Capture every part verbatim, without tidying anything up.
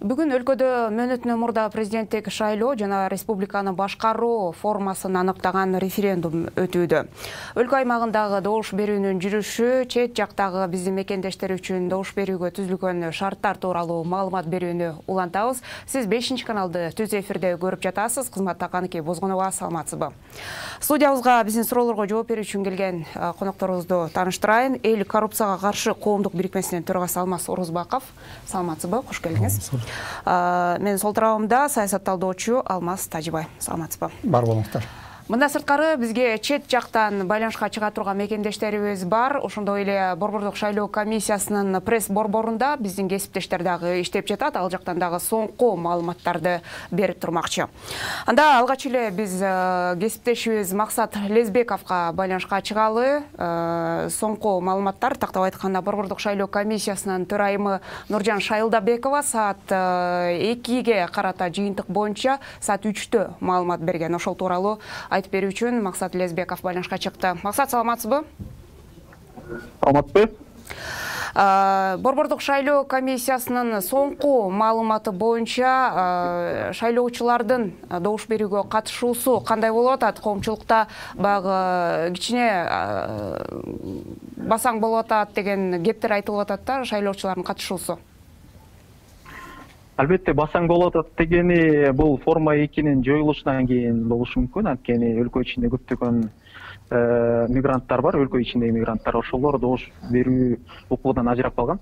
Бүгүн өлкөдө мөөнөтүнөн мурда президенттик шайлоо жана республиканы башкаруу формасын аныктаган референдум өтүүдө. Өлкө аймагындагы добуш берүүнүн жүрүшү, чет жактагы биздин мекендештер үчүн добуш берүүгө түзүлгөн шарттар тууралуу маалымат берүүнү улантабыз. Сиз бешинчи каналды түз эфирде көрүп жатасыз. Кызматта Каныке Бозгонова, саламатсызбы? Студиябызга биздин суроолорго жооп берүү үчүн келген конокторубузду тааныштырайын. Эл коррупцияга каршы коомдук бирикмесинин төрагасы Алмаз Орозбаков. Саламатсызбы? Кош келдиңиз. Мен сол тарабымда саясатталдоочу Алмаз Тажибай. Саламатсызбы? Бар болуңуздар. Мындан сырткары бизге чет жактан байланышка чыга турган мекендештерибиз бар. Ошондой эле Борбордук шайлоо комиссиясынын пресс борборунда биздин кесиптештер дагы иштеп жатат. Ал жактан дагы соңку маалыматтарды берип турмакчы. Анда алгач эле биз кесиптешибиз Максат Лезбековго байланышка чыгалы. Соңку маалыматтар, тактап айтканда, Борбордук шайлоо комиссиясынын төрайымы Нуржан Шайылдабекова саат экиге карата жыйынтык боюнча саат үчтө маалымат берген. Ошол тууралуу айтып берүү үчүн Максат Лезбеков байланышка чыкты. Максат, саламатсызбы? Саламатсызбы? Борбордук шайлоо комиссиясынын соңку маалыматы боюнча шайлоочулардын добуш берүүгө катышуусу кандай болуп атат? Коомчулукта баягы кичине басаң болуп атат деген кептер айтылып атат да, шайлоочулардын катышуусу. Албетте, басаң болуп атат дегени бул форма экинин жоюлушунан кийин болушу мүмкүн. Анткени өлкө ичинде көптөгөн мигранттар бар, өлкө ичиндеги мигранттар, ошолор добуш берүү укугунан ажырап калган.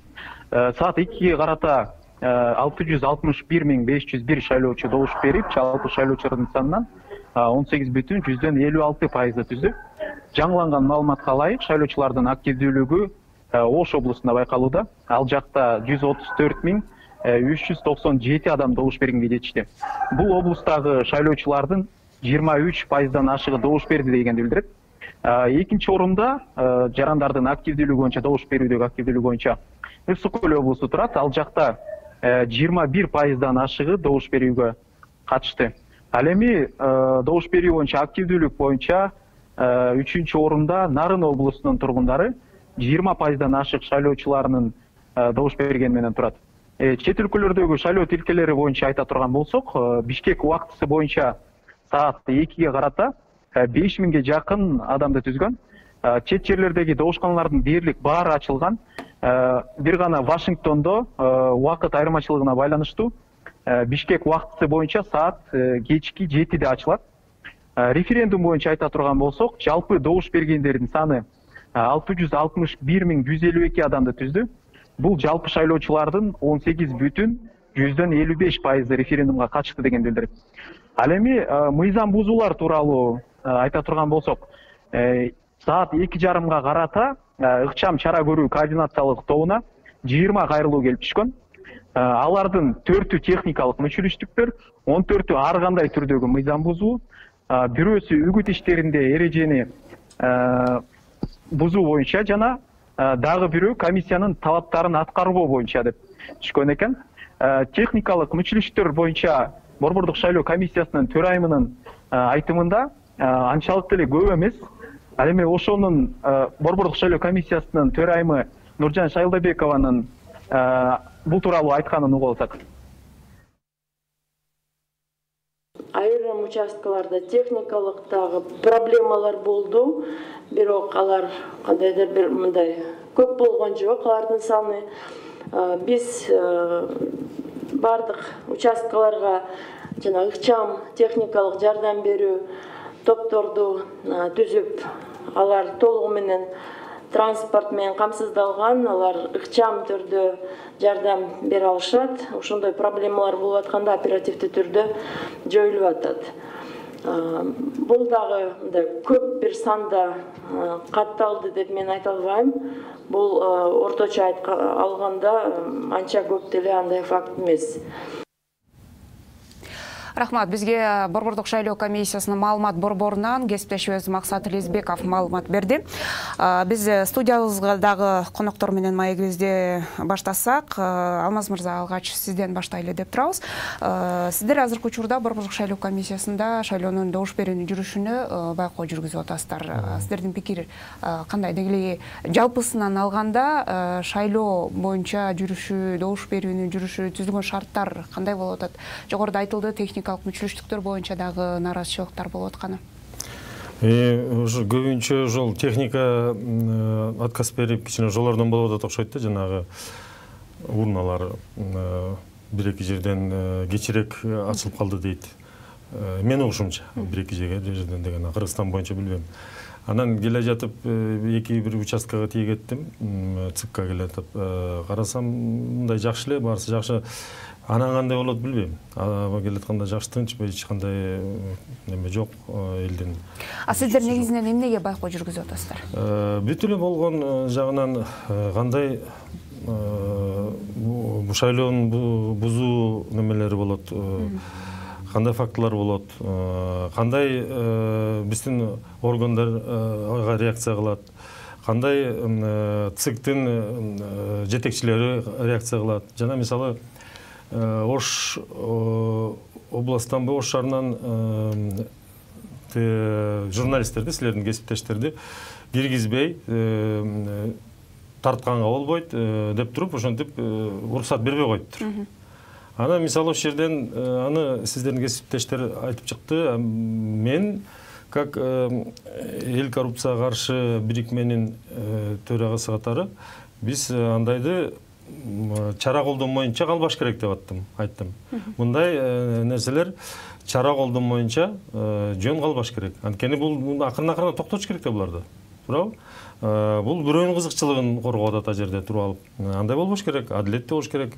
Саат экиге карата алты жүз алтымыш бир миң беш жүз бир шайлоочу добуш берип, жалпы шайлоочулардын санынан он сегиз бүтүн жүздөн элүү алты пайызды түздү. Жаңыланган маалыматка ылайык, шайлоочулардын активдүүлүгү Ош облусунда байкалууда. Ал жакта жүз отуз төрт миң үч жүз токсон жети адам добуш бергенге жетишти. Бул облустагы шайлоочулардын жыйырма үч пайыздан ашыгы добуш берди дегенди билдирет. Экинчи орунда жарандардын активдүүлүгү боюнча, добуш берүүдөгү активдүүлүгү боюнча Ысык Көл облусу турат. Ал жакта жыйырма бир пайыздан ашыгы добуш берүүгө катышты. Ал эми добуш берүү боюнча активдүүлүк боюнча үчүнчү орунда Нарын облусунун тургундары жыйырма пайыздан ашык шайлоочуларынын добуш бергени менен турат. Чет өлкөлөрдөгү шайлоо тилкелери боюнча айта турган болсок, Бишкек убактысы боюнча саат экиге карата беш миңге жакын адамды түзгөн. Чет жерлердеги добушканалардын дээрлик баары ачылган. Бир гана Вашингтондо убакыт айырмачылыгына байланыштуу Бишкек убактысы боюнча саат кечки жетиде ачылат. Референдум боюнча айта турган болсок, жалпы добуш бергендердин саны алты жүз алтымыш бир миң жүз элүү эки адамды түздү. Бул жалпы шайлоочулардын он сегиз бүтүн жүздөн элүү беш пайызы референдумга катышты деген билдирет. Ал эми мыйзам бузуулар тууралуу айта турган болсок, саат эки жарымга карата ыкчам чара көрүү координациялык тобуна жыйырма кайрылуу келип түшкөн. Алардын төртү техникалык мүчүлүштүктөр, он төртү ар кандай түрдөгү мыйзам бузуу, бирөөсү үгүт иштеринде эрежени бузуу боюнча жана дагы бирөө комиссиянын талаптарын аткарбоо боюнча деп түшкөн экен. Техникалык мүчүлүштөр боюнча Борбордук шайлоо комиссиясынын төрайымынын айтымында анчалык деле көп эмес. Ал эми ошонун Борбордук шайлоо комиссиясынын төрайымы Нуржан Шайылдабекованын бул тууралуу айтканын угуп алсак. Айрым участкаларда техникалык дагы проблемалар болду. Бирок алар кандайдыр бир мындай көп болгон жок, алардын саны. Биз бардык участкаларга жана ыкчам техникалык жардам берүү топторду түзүп, алар толугу менен транспорт менен камсыздалган, алар ыкчам түрдө жардам бере алышат. Ошондой проблемалар болуп атканда оперативдүү түрдө жоюлуп атат. Бул дагы мындай көп бир санда катталды деп мен айта албайм. Бул орточо алганда анча көп деле андай факт эмес. Рахмат. Бизге Борбордук шайлоо комиссиясынын маалымат борборунан кесиптешибиз Максат Элизбеков маалымат берди. Биз студиябыздагы коноктор менен маегибизди баштасак, Алмаз мырза, алгач сизден баштайлы деп турабыз. Сиздер азыркы учурда Борбордук шайлоо комиссиясында шайлоонун добуш берүүнүн жүрүшүнө байкоо жүргүзүп атасыздар. Сиздердин пикир кандай? Деги эле жалпысынан алганда шайлоо боюнча жүрүшү, добуш берүүнүн жүрүшү, түзүлгөн шарттар кандай болуп атат? Жогоруда айтылды, техникалык мүчүлүштүктөр боюнча дагы нараазычылыктар болуп атканы. Уже көбүнчө жол техника отказ берип кичине жолордон болуп атат окшойт да, жанагы урналар бир-эки жерден кечирээк ачылып калды дейт. Мен угушумча бир-эки жерден деген, Кыргызстан боюнча билбейм. Анан келе жатып эки бир участкага тийгеттим, ЦИКка келетип карасам, мындай жакшы эле, баарысы жакшы. Анан кандай болот билбейм. Аба келатканда жакшы, тынч, эч кандай неме жок элдин. А сиздер негизинен эмнеге байкоо жүргүзүп атасыздар? Бүт эле болгон жагынан кандай бу шайлоонун бузуу немелери болот, кандай фактылар болот, кандай биздин органдарга реакция кылат, кандай ЦИКтин жетекчилери реакция кылат. Жана мисалы Ош областан, Ош шаарынан журналисттерди, силердин кесиптештерди киргизбей тартканга болбойт деп туруп, ошентип уруксат бербей коюптур. Ана мисалы ошол жерден аны сиздердин кесиптештер айтып чыкты. Мен как эл коррупцияга каршы бирикменин төрагасы катары биз андайды чара колдонмоюнча калбаш керек деп аттым, айттым. Мындай нерселер чара колдонмоюнча жөн калбаш керек. Анткени бул акырын-акырын токтотуш керек да буларды. Туурабы? Бул бирөөнүн кызыкчылыгын коргоп атат а жерде туруп алып. Андай болбош керек, адилеттүү болуш керек.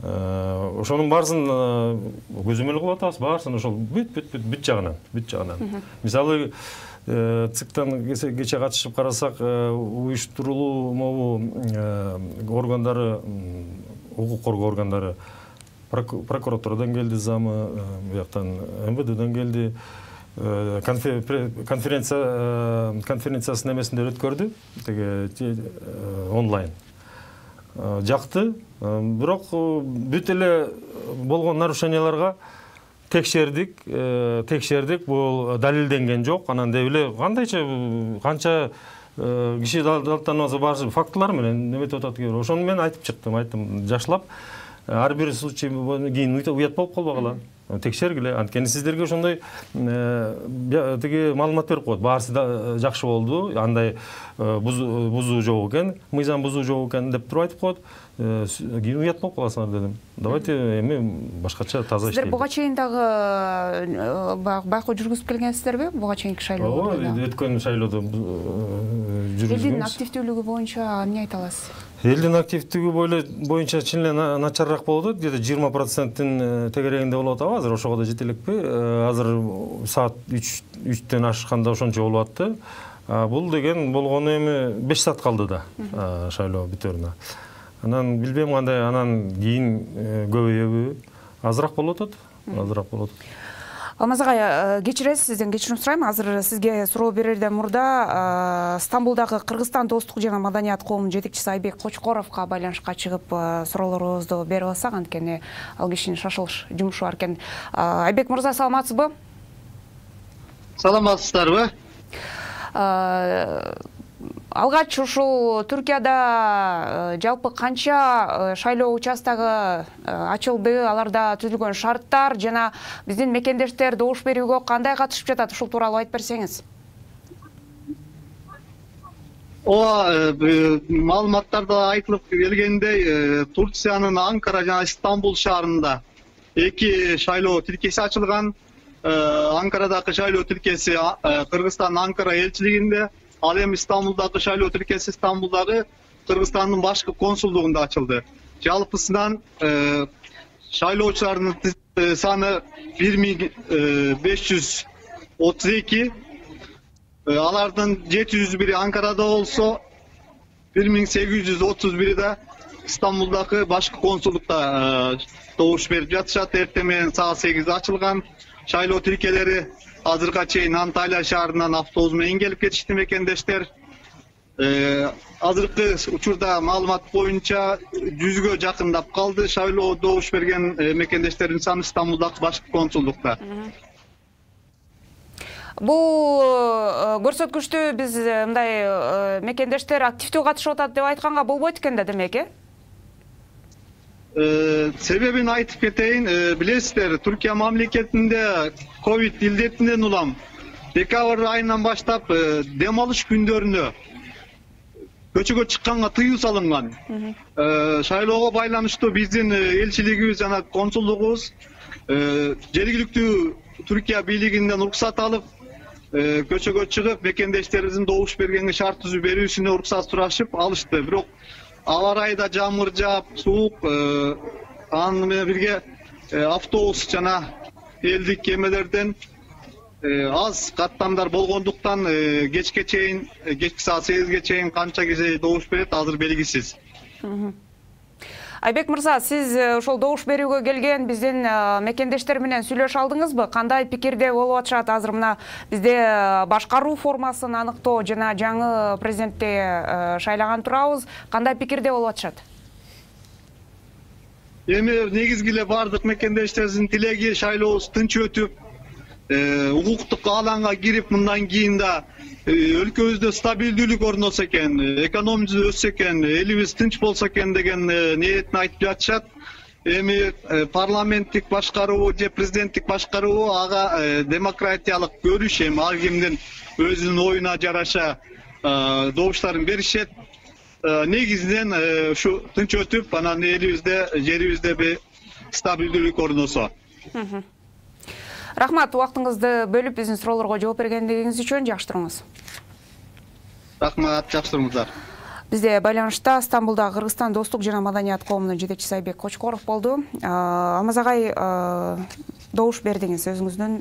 Ошонун баарысын көзөмөл кылып атабыз, баарысын ошол бүт-бүт-бүт бүт жагынан, бүт жагынан. Мисалы, ЦИКтан кече катышып карасак, уюштурулуу могу органдары, укук коргоо органдары, прокуратурадан келди замы, бияктан МВДден келди, конференция конференциясын эмесинде өткөрдү, теге онлайн. Жакты, бирок бүт эле болгон нарушенияларга текшердик, текшердик, бул далилденген жок. Анан деп эле кандайча канча киши даттанып баарысы фактылар менен неметип атат экен. Ошону мен айтып чыктым, айттым, жашлап ар бир случай кийин уят болуп калбагыла. Текшергиле. Анткени сиздерге ошондой тиги маалымат берип коет. Баарысы жакшы болду, андай бузуу жок экен, мыйзам бузуу жок экен деп туруп айтып коет. Кийин уят болуп каласыңар дедим. Давайте эми башкача таза иштейли. Сиздер буга чейин дагы байкоо жүргүзүп келгенсиздерби? Буга чейинки шайлоодо? Ооба, өткөн шайлоодо жүргүзгөнбүз. Элдин активдүүлүгү боюнча эмне айта аласыз? Элдин активдүүлүгү боюнча чын эле начарыраак болуп атат. Где-то жыйырма проценттин тегерегинде болуп атабы. Азыр ошого да жете элекпи? Азыр саат үчтөн ашканда ошончо болуп атты. Бул деген болгону эми беш саат калды да шайлоо бүтөрүнө. Анан билбейм кандай, анан кийин көбөйөбү? Азыраак болуп атат. Азыраак болуп атат. Алмаз агай, кечиресиз, сизден кечирим сурайм. Азыр сизге суроо берерден мурда Стамбулдагы Кыргызстан достук жана маданият коомунун жетекчиси Айбек Кочкоровго байланышка чыгып суроолорубузду берип алсак, анткени ал кишинин шашылыш жумушу бар экен. Айбек мырза, саламатсызбы? Саламатсыздарбы? Алгач ушул Түркияда жалпы канча шайлоо участогу ачылды, аларда түзүлгөн шарттар жана биздин мекендештер добуш берүүгө кандай катышып жатат, ушул тууралуу айтып берсеңиз. Ооба, маалыматтарда айтылып келгендей, Турциянын Анкара жана Стамбул шаарында эки шайлоо тилкеси ачылган. Анкарадагы шайлоо тилкеси Кыргызстан Анкара элчилигинде, ал эми Стамбулдагы шайлоо тилкеси Стамбулдагы Кыргызстандын башкы консулдугунда ачылды. Жалпысынан шайлоочулардын саны бир миң беш жүз отуз эки, алардын жети жүз бири Анкарада болсо, бир миң сегиз жүз отуз бири да Стамбулдагы башкы консулдукта добуш берип жатышат. Эртең менен саат сегизде ачылган. Шайлоо тилкелери азыркыга чейин Анталия шаарынан автобус менен келип кетишти мекендештер. Азыркы учурда маалымат боюнча жүзгө жакындап калды шайлоо добуш берген мекендештердин саны Стамбулдагы башкы консулдукта. Бул көрсөткүчтү биз мындай мекендештер активдүү катышып атат деп айтканга болбойт экен да, демек, э? Себебин айтып кетейин, билесиздер, Түркия мамлекетинде ковид илдетинен улам декабрь айынан баштап дем алыш күндөрүнө көчөгө чыкканга тыюу салынган. Шайлоого байланыштуу биздин элчилигибиз жана консулдугубуз жергиликтүү Түркия бийлигинен уруксат алып, көчөгө чыгып, мекендештерибиздин добуш бергенге шарт түзүү берүүсүнө уруксат сурашып алышты. Бирок аба ырайда жамыр жаап, суук, аны менен бирге автобус жана элдик кемелерден аз каттамдар болгондуктан кечке чейин, кечки саат сегизге чейин канча киши добуш берет азыр белгисиз. Айбек мырза, сиз ошол добуш берүүгө келген биздин мекендештер менен сүйлөшө алдыңызбы? Кандай пикирде болуп атышат? Азыр мына бизде башкаруу формасын аныктоо жана жаңы президентти шайлаган турабыз. Кандай пикирде болуп атышат? Эми негизги эле бардык мекендештерибиздин тилеги шайлообуз тынч өтүп, укуктук алаңга кирип, мындан кийин да өлкөбүздө стабилдүүлүк орносо экен, экономикабыз өссө экен, элибиз тынч болсо экен деген ниетин айтып жатышат. Эми парламенттик башкаруу же президенттик башкаруу ага демократиялык көрүш, эми ар кимдин өзүнүн оюна жараша добуштарын беришет. Негизинен ушу тынч өтүп, анан элибизде, жерибизде бир стабилдүүлүк орносо. Рахмат, убактыңызды бөлүп биздин суроолорго жооп бергендигиңиз үчүн. Жакшы туруңуз. Рахмат, жакшы туруңуздар. Бизде байланышта Стамбулда Кыргызстан достук жана маданият коомунун жетекчиси Айбек Кочкоров болду. Алмаз агай, добуш бердиңиз, өзүңүздүн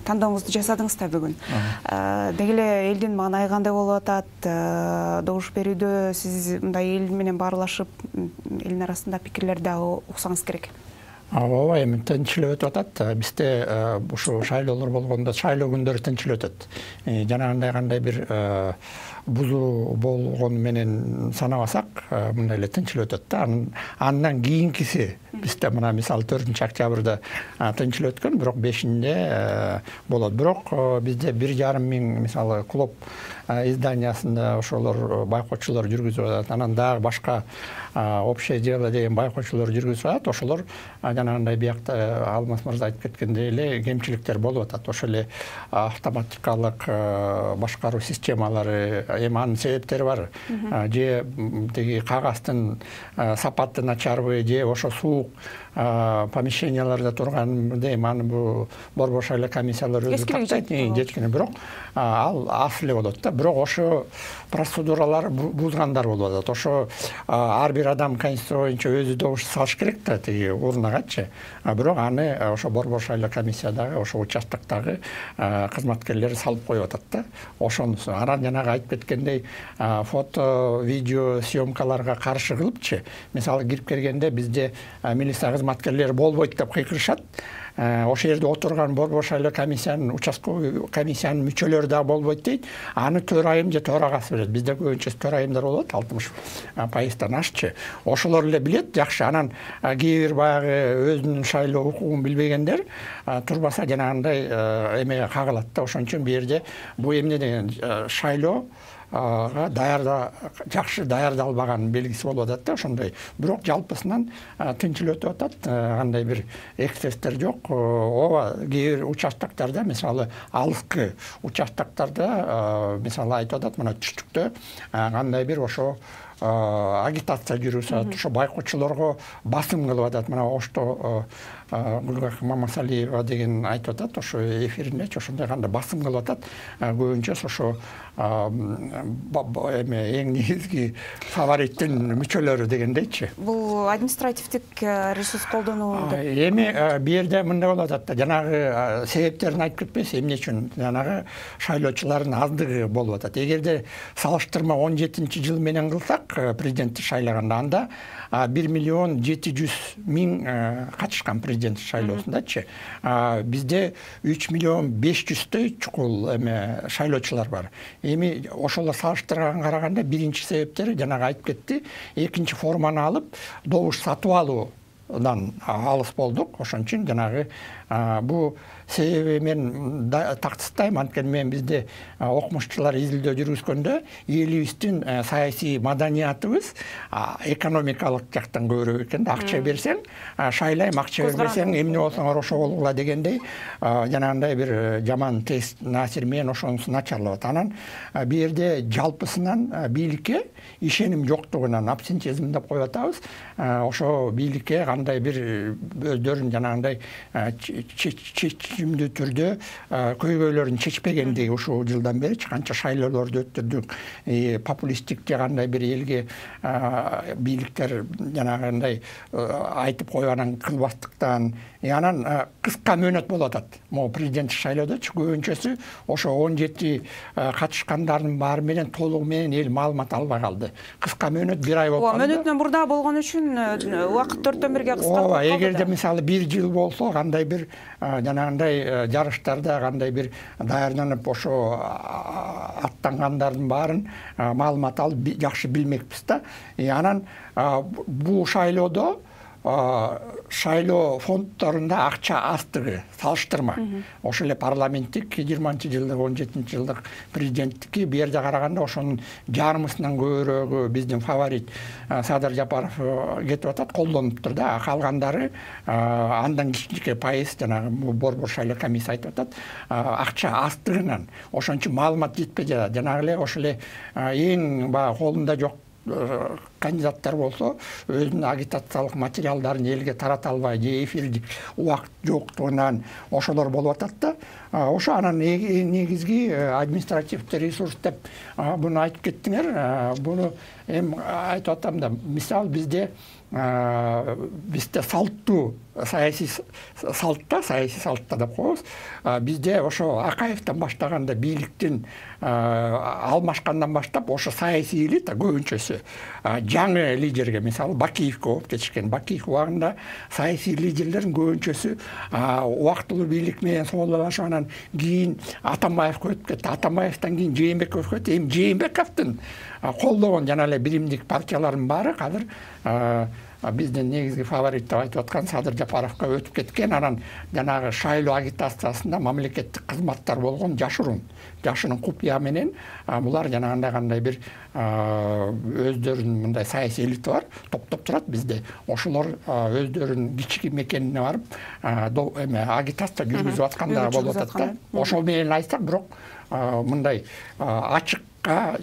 тандооңузду жасадыңыз да бүгүн. Деги эле элдин маанайы кандай болуп атат? Добуш берүүдө сиз мындай эл менен баарлашып, элдин арасында пикирлерди дагы уксаңыз керек. Ооба, эми тынчылып өтүп атат. Бизде ушу шайлоолор болгондо шайлоо күндөрү тынчылып өтөт. Жанагындай кандай бир бузуу болгону менен санабасак, мындай эле тынчылып өтөт да. Андан кийинкиси бизде мына мисалы төртүнчү октябрда тынчылып өткөн, бирок бешинде болот. Бирок бизде бир жарым миң мисалы клуб изданиясында ошолор байкоочулар жүргүзүп атат. Анан дагы башка общее дело деген байкоочулар жүргүзүп атат. Ошолор жанагындай биякта Алмаз мырза айтып кеткендей эле кемчиликтер болуп атат. Ошол эле автоматикалык башкаруу системалары, эми анын себептери бар. Же тиги кагаздын сапаты начарбы, же ошо суук помещенияларда турган, дейм, аны бу борбор шайлоо комиссиялары өзү тактайт, жеткине. Бирок ал аз эле болот да. Бирок ошо процедуралар бузгандар болуп атат. Ошо ар бир адам конституция боюнча өзү добуш салыш керек да, тиги урнагачы. Бирок аны ошо борбор шайлоо комиссиядагы, ошо участоктогу кызматкерлери салып коюп атат да. Ошонусу. Анан жанагы айтып кеткендей фото, видео съемкаларга каршы кылыпчы. Мисалы кирип келгенде бизде милиция кызматкерлери болбойт деп кыйкырышат. Ошол жерде отурган борбор шайлоо комиссиянын, участковый комиссиянын мүчөлөрү да болбойт дейт. Аны төрайым же төрагасы билет. Бизде көбүнчө төрайымдар болот, алтымыш пайыздан ашчы. Ошолор эле билет, жакшы. Анан кээ бир баягы өзүнүн шайлоо укугун билбегендер турбаса жанагындай эмеге кагылат да. Ошон үчүн бу жерде бу эмне деген шайлоо даярда жакшы даярдалбаган белгиси болуп атат да, ошондой. Бирок жалпысынан тынчылып өтүп атат, кандай бир эксцесстер жок. Ооба, кээ бир участоктарда, мисалы алыскы участоктарда, мисалы айтып атат, мына түштүктө кандай бир ошо агитация жүрүп атат, ошо байкоочулорго басым кылып атат. Мына Ошто Гүлгак Мамасалиева деген айтып атат, ошо эфириндечи ошондой кандай басым кылып атат. Көбүнчө ошо эме эң негизги фавориттин мүчөлөрү дегендейчи. Бул административдик ресурс колдонуу деп. Эми бу жерде мындай болуп атат да, жанагы себептерин айтып кетпесе, эмне үчүн жанагы шайлоочулардын аздыгы болуп атат. Эгерде салыштырма он жетинчи жыл менен кылсак, башкы президентти шайлаганда анда бир миллион жети жүз миң катышкан президент шайлоосундачы. Бизде үч миллион беш жүздөй чукул эме шайлоочулар бар. Эми ошолор салыштырганга караганда биринчи себептери жанагы айтып кетти. Экинчи форманы алып, добуш сатып алуудан алыс болдук. Ошон үчүн жанагы бу себеби мен тактыстайм. Анткени мен бизде окумуштуулар изилдөө жүргүзгөндө элибиздин саясий маданиятыбыз экономикалык жактан көбүрөөк экен. Акча берсең шайлайм, акча бербесең эмне болсоңор ошо болгула дегендей жанагындай бир жаман тест насир менен ошонусу начарлап атат. Анан бу жерде жалпысынан бийликке ишеним жоктугунан абсентизм деп коюп атабыз. Ошо бийликке кандай бир өздөрүн жанагындай чечимдүү түрдө көйгөйлөрүн чечпегендиги ушул жылдан бери канча шайлоолорду өттүрдүк. Популисттик же кандай бир элге бийликтер жанагындай айтып койганын кылбастыктан анан кыска мөөнөт болуп атат. Могу президенттик шайлоодочу көбүнчөсү ошо он жети катышкандардын баары менен толугу менен эл маалымат албай калды. Кыска мөөнөт бир ай болуп калды. Мөөнөтүнөн мурда болгон үчүн убакыт төрттөн бирге кыскартылып калды. Ооба, эгерде мисалы бир жыл болсо кандай бир жанагындай жарыштарда кандай бир даярданып ошо аттангандардын баарын маалымат алып жакшы билмекпиз да. Анан бул шайлоодо шайлоо фонддорунда акча аздыгы салыштырма. Ошол эле парламенттик жыйырманчы жылдык, он жетинчи жылдык президенттики бу жерде караганда ошонун жарымысынан көбүрөөгү биздин фаворит Садыр Жапаров кетип атат, колдонуптур да. Калгандары андан кичинекей пайыз жанагы борбор шайлоо комиссия айтып атат, акча аздыгынан. Ошон үчүн маалымат жетпей жатат. Жанагы эле ошол эле эң баягы колунда жок кандидаттар болсо өзүнүн агитациялык материалдарын элге тарата албай же эфирдик убакыт жоктугунан ошолор болуп атат да. Ошо анан негизги административдик ресурс деп буну айтып кеттиңер. Буну эми айтып атам да, мисалы бизде бизде салттуу саясий салтта, саясий салтта деп коебуз. Бизде ошо Акаевден баштаганда бийликтин алмашкандан баштап ошо саясий элита көбүнчөсү жаңы лидерге, мисалы Бакиевке болуп кетишкен. Бакиев убагында саясий лидерлердин көбүнчөсү убактылуу бийлик менен соолалашып, анан кийин Атамбаевке өтүп кетти. Атамбаевден кийин Жээнбекке өтүп кетти. Эми Жээнбековдун колдогон жана эле биримдик партиялардын баары азыр биздин негизги фаворит деп айтып аткан Садыр Жапаровго өтүп кеткен. Анан жанагы шайлоо агитациясында мамлекеттик кызматтар болгон жашырун жашынын купуя менен булар жанагындай кандай бир өздөрүнүн мындай саясий элита бар, топтоп турат бизде. Ошолор өздөрүнүн кички мекенине барып эме агитация жүргүзүп атканда болуп атат да. Ошол менен айтсак, бирок мындай ачык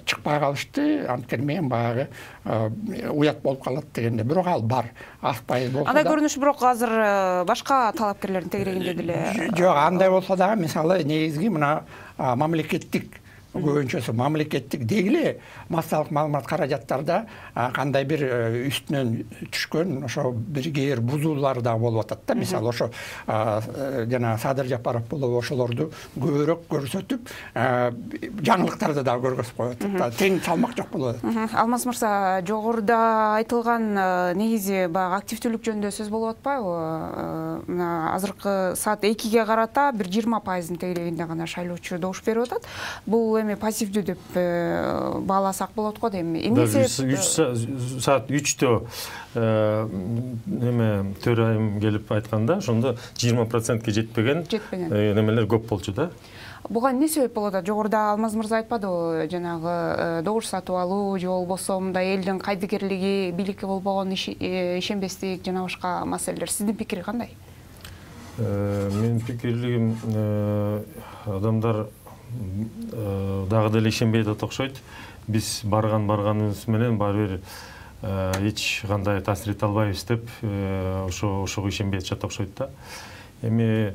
чыкпай калышты. Анткени мен баягы уят болуп калат дегенде, бирок ал бар. Аз пайыз болсо да. Андай көрүнүш бирок азыр башка талапкерлердин тегерегинде деле. Жок, андай болсо дагы мисалы негизги мына мамлекеттик көбүнчөсү мамлекеттик дегиле массалык маалымат каражаттарда кандай бир үстүнөн түшкөн ошо бир кээ бир бузуулар да болуп атат да. Мисалы ошо жана Садыр Жапаров болуп ошолорду көбүрөөк көрсөтүп, жаңылыктарды да көргөзүп коюп атат да. Тең салмак жок болуп атат. Алмаз мырза, жогоруда айтылган негизи баягы активдүүлүк жөнүндө сөз болуп атпайбы? Мына азыркы саат экиге карата бир жыйырма пайыздын тегерегинде гана шайлоочу добуш берип атат. Бул эми пассивдүү деп бааласак болот го дейм. Эмне себеп? Саат үчтө эме төрайым келип айтканда, ошондо жыйырма процентке жетпеген немелер көп болчу да. Буга эмне себеп болот? Жогоруда Алмаз мырза айтпадыбы, жанагы добуш сатып алуу же болбосо мындай элдин кайдыгерлиги, бийликке болбогон ишенбестик жана башка маселелер. Сиздин пикири кандай? Менин пикирлигим, адамдар дагы деле ишенбей атат окшойт. Биз барган барганыбыз менен баары бир эч кандай таасир эте албайбыз деп ошо ошого ишенбей атышат окшойт да. Эми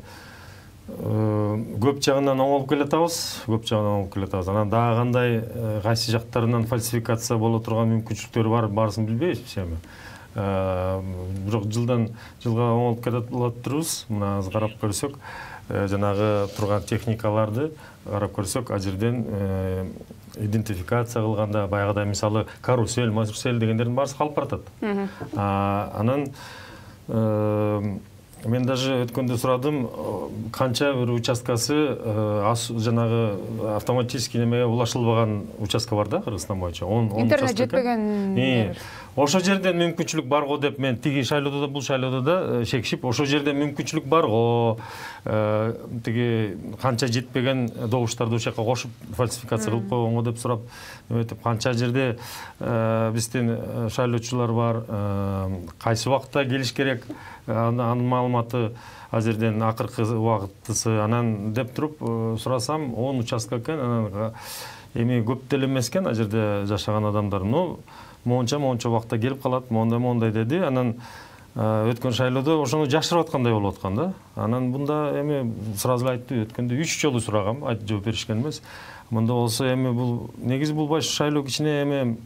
көп жагынан оңолуп келатабыз, көп жагынан оңолуп келатабыз. Анан дагы кандай кайсы жактарынан фальсификация боло турган мүмкүнчүлүктөр бар, баарысын билбейбиз эми. Бирок жылдан жылга оңолуп келатып турубуз. Мына азыр карап көрсөк, жанагы турган техникаларды карап көрсөк, ал жерден идентификация кылганда баягыдай мисалы карусель, марсель дегендердин баары калып баратат. Анан мен даже өткөндө сурадым, канча бир участкасы жанагы автоматический немеге улашылбаган участка бар да Кыргызстан боюнча. Интернет жетпеген. Ошо жерден мүмкүнчүлүк бар го деп мен тиги шайлоодо да бул шайлоодо да шекишип, ошо жерде мүмкүнчүлүк бар го. Тиги канча жетпеген добуштарды ошол жака кошуп фальсификация кылып койгонго деп сурап, өтүп канча жерде биздин шайлоочулар бар, кайсы убакытта келиш керек, анын маалыматы азерден акыркы убакыттысы анан деп туруп сурасам он участка экен. Анан эми көп деле эмес экен ал жерде жашаган адамдар. Ну монча монча убакытта келип калат, мондай мондай деди. Анан өткөн шайлоодо ошону жашырып аткандай болуп аткан да. Анан мында эми сразу айтты, өткөндө үч жолу сурагам, айтып жооп беришкен эмес. Мында болсо эми бул негизи бул баш шайлоо кичине эми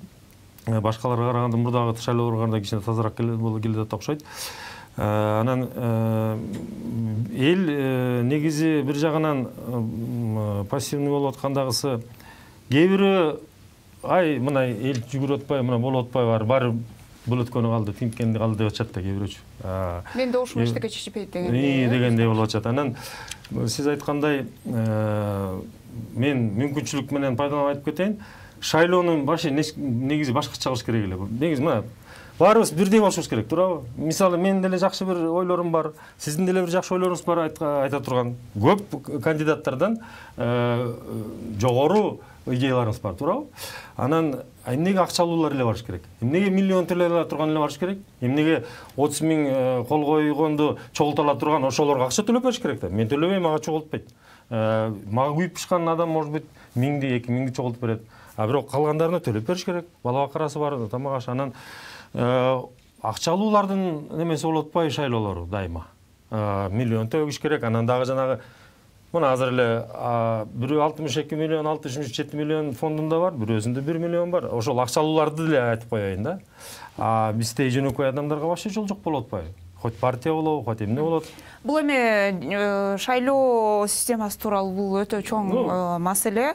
башкаларга караганда мурдагы шайлоолорго караганда кичине тазараак келет окшойт. Анан эл негизи бир жагынан пассивный болуп аткандагысы кээ бири ай мына эл жүгүрүп атпай, мына болуп атпайбы, баары бул өткөнү калды, тинткенди калды деп атышат да кээ бирөөчү. Мен да ушул эчтеке чечпейт дегендей. Дегендей болуп атышат. Анан сиз айткандай мен мүмкүнчүлүк менен пайдаланып айтып кетейин. Шайлоонун башы негизи башкача кылыш керек эле. Негизи мына баарыбыз бирдей болушубуз керек, туурабы? Мисалы мен деле жакшы бир ойлорум бар, сиздин деле бир жакшы ойлоруңуз бар айта турган. Көп кандидаттардан жогору идеяларыңыз бар, туурабы? Анан эмнеге акчалуулар эле барыш керек? Эмнеге миллион төлөй турган эле барыш керек? Эмнеге отуз миң кол койгонду чогултала турган ошолорго акча төлөп бериш керек да? Мен төлөбөйм, мага чогултпайт. Мага күйүп пышкан адам может быть миңди, эки миңди чогултуп берет. А бирок калгандарына төлөп бериш керек. Бала бакарасы бар, тамак аш. Анан акчалуулардын немеси болуп атпайбы шайлоолору дайыма. Миллион төгүш керек. Анан дагы жанагы мына азыр эле бирөө алтымыш эки миллион, алтымыш жети миллион фондунда бар, бирөөсүндө бир миллион бар. Ошол акчалууларды деле айтып коеюн да. А бизде жөнөкөй адамдарга вообще жол жок болуп атпайбы? Хоть партия болобу, хоть эмне болот. Бул эми шайлоо системасы тууралуу бул өтө чоң маселе.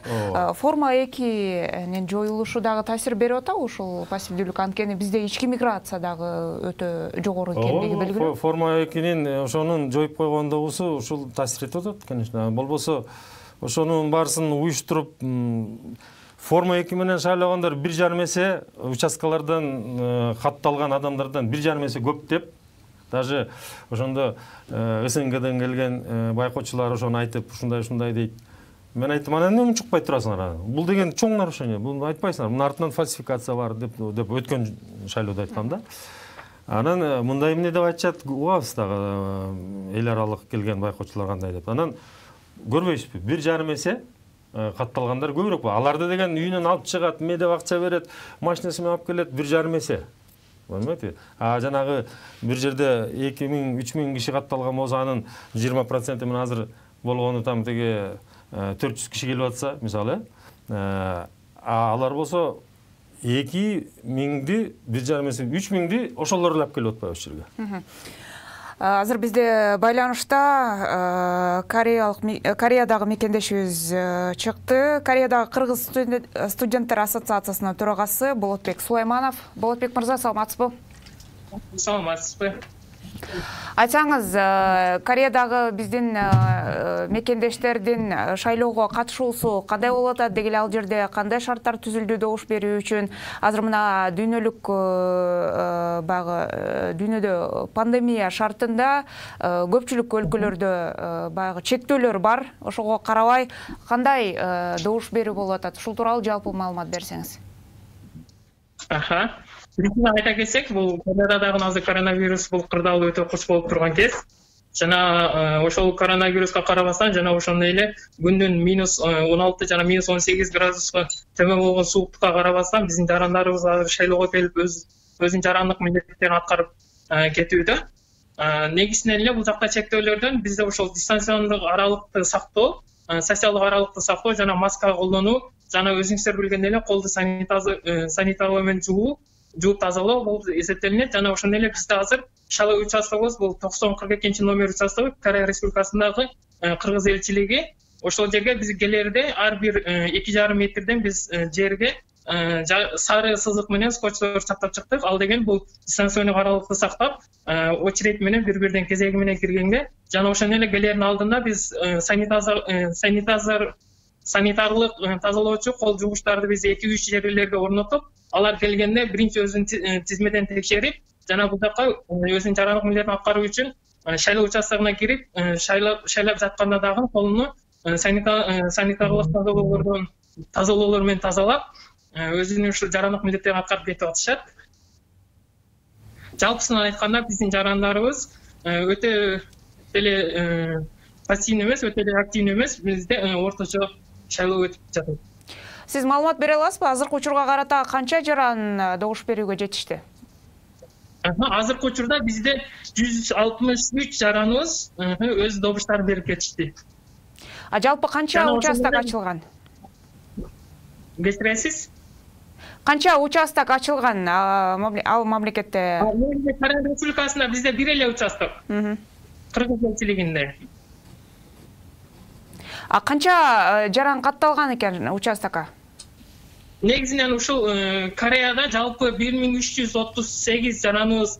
Форма экинин жоюлушу дагы таасир берип атабы ушул пассивдүүлүк? Анткени бизде ички миграция дагы өтө жогору экендиги белгилүү. Форма экинин ошонун жоюп койгондогусу ушул таасир этип атат, конечно. Болбосо ошонун баарысын уюштуруп Форма эки менен шайлагандар бир жарым эсе участкалардан катталган адамдардан бир жарым эсе көп деп, даже ошондо СНГден келген байкоочулар ошону айтып, ушундай ушундай дейт. Мен айттым, анан эмне чукпай турасыңар? Бул деген чоң нарушение, буну айтпайсыңар. Мунун артынан фальсификация бар деп деп өткөн шайлоодо айткам да. Анан мындай эмне деп айтышат, угабыз дагы эл аралык келген байкоочулар кандай деп. Анан көрбөйсүзбү? бир жарым эсе катталгандар көбүрөөк. Аларды деген үйүнөн алып чыгат, медеп акча берет, машинасы менен алып келет, бир жарым эсе. Болмойт. А жанагы бир жерде эки миң, үч миң киши катталган болсо, анын жыйырма проценти мен азыр болгону там теге төрт жүз киши келип атса, мисалы, а алар болсо эки миңди, бир жарым эсе, үч миңди ошолор эле алып келип атпайбы ошол жерге. Азыр бизде байланышта Кореядагы мекендешибиз чыкты. Кореядагы Кыргыз студенттер ассоциациясынын төрагасы Болотбек Сулайманов. Болотбек мырза, саламатсызбы? Саламатсызбы. Айтсаңыз, Кореядагы биздин мекендештердин шайлоого катышуусу кандай болуп атат? Деги эле ал жерде кандай шарттар түзүлдү добуш берүү үчүн? Азыр мына дүйнөлүк баягы дүйнөдө пандемия шартында көпчүлүк өлкөлөрдө баягы чектөөлөр бар. Ошого карабай кандай добуш берүү болуп атат? Ушул тууралуу жалпы маалымат берсеңиз. Аха. Биринчиден айта кетсек, бул Кореядагы азыр коронавирус бул кырдаалуу өтө куч болуп турган кез. Жана ошол коронавируска карабастан жана ошондой эле күндүн минус он алты жана минус он сегиз градуска төмөн болгон сууктукка карабастан биздин жарандарыбыз азыр шайлоого келип өзүнүн жарандык милдеттерин аткарып кетүүдө. Негизинен эле бул жакта чектөөлөрдөн бизде ошол дистанциялык аралыкты сактоо, социалдык аралыкты сактоо жана маска колдонуу жана өзүңүздөр билгендей эле колду санитарлоо менен жуу жууп тазалоо болуп эсептелинет. Жана ошондой эле бизде азыр шайлоо участогубуз бул токсон кырк экинчи номер участогу Корея Республикасындагы Кыргыз элчилиги ошол жерге биз келерде ар бир эки жарым метрден биз жерге сары сызык менен скотчтор чаптап чыктык. Ал деген бул дистанционный каралыкты сактап, очередь менен бири бирден кезеги менен киргенге жана ошондой эле келердин алдында биз санитар санитарлык тазалоочу кол жуугучтарды биз эки үч жерлерге орнотуп, алар келгенде биринчи өзүн тизмеден текшерип, жана бул жака өзүнүн жарандык милдетин аткаруу үчүн шайлоо участогуна кирип, шайлап шайлап жатканда дагы колуну санитарлык тазалоолордон тазалоолор менен тазалап, өзүнүн ушул жарандык милдеттерин аткарып кетип атышат. Жалпысынан айтканда биздин жарандарыбыз өтө эле пассивный эмес, өтө эле активный эмес, бизде орточо шайлоо өтүп жатат. Сиз маалымат бере аласызбы? Азыркы учурга карата канча жаран добуш берүүгө жетишти? Азыркы учурда бизде жүз алтымыш үч жараныбыз өз добуштарын берип кетишти. А жалпы канча участок ачылган? Кечиресиз? Канча участок ачылган ал мамлекетте? Каракай Республикасында бизде бир эле участок. Кыргыз элчилигинде. А канча жаран катталган экен участокко? Негизинен ушул Кореяда жалпы бир миң үч жүз отуз сегиз жараныбыз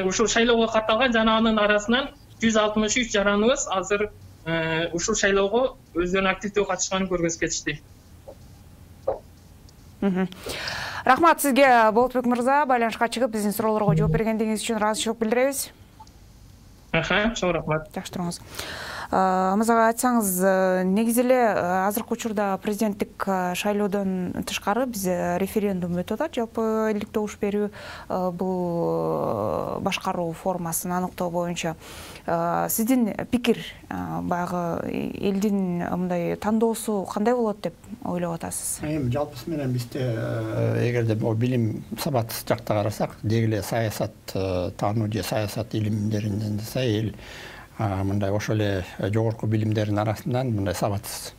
ушул шайлоого катталган, жана анын арасынан жүз алтымыш үч жараныбыз азыр ушул шайлоого өздөрүнүн активдүү катышканын көргөзүп кетишти. Рахмат сизге, Болотбек мырза, байланышка чыгып биздин суроолорго жооп бергендигиңиз үчүн ыраазычылык билдиребиз. Аха, чоң рахмат. Жакшы туруңуз. Мырзага айтсаңыз, негизи эле азыркы учурда президенттик шайлоодон тышкары биз референдум өтүп атат. Жалпы элдик добуш берүү бул башкаруу формасын аныктоо боюнча сиздин пикир, баягы элдин мындай тандоосу кандай болот деп ойлоп атасыз? Эми жалпысы менен бизде эгерде могу билим сабат жакта карасак, деги эле саясат таануу же саясат илимдеринен десе эл мындай ошол эле жогорку билимдердин арасынан мындай сабатсыз.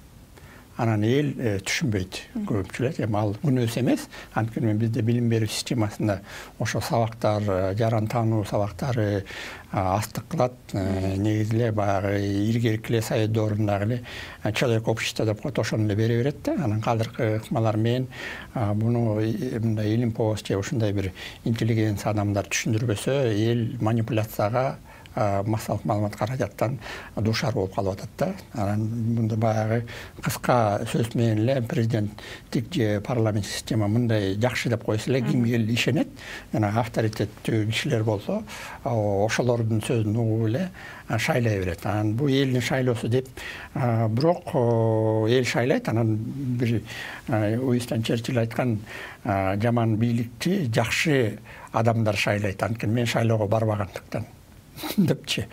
Анан эл түшүнбөйт көпчүлүк. Эми ал күнөөсү эмес. Анткени бизде билим берүү системасында ошо сабактар, жаран таануу сабактары астык кылат. Негизи эле баягы илгерки эле совет доорундагы эле человек общества деп коет, ошону эле бере берет да. Анан кадыркы ыкмалар менен буну мындай илимпоз же ушундай бир интеллигенция адамдар түшүндүрбөсө, эл манипуляцияга, массалык маалымат каражаттан дуушар болуп калып атат да. Анан мында баягы кыска сөз менен эле президенттик же парламент система мындай жакшы деп койсо эле ким эл ишенет. Жана авторитеттүү кишилер болсо, ошолордун сөзүн угуп эле шайлай берет. Анан бул элдин шайлоосу деп, бирок эл шайлайт. Анан бир Уинстон Черчилль айткан, жаман бийликти жакшы адамдар шайлайт. Анткени мен шайлоого барбагандыктан депчи.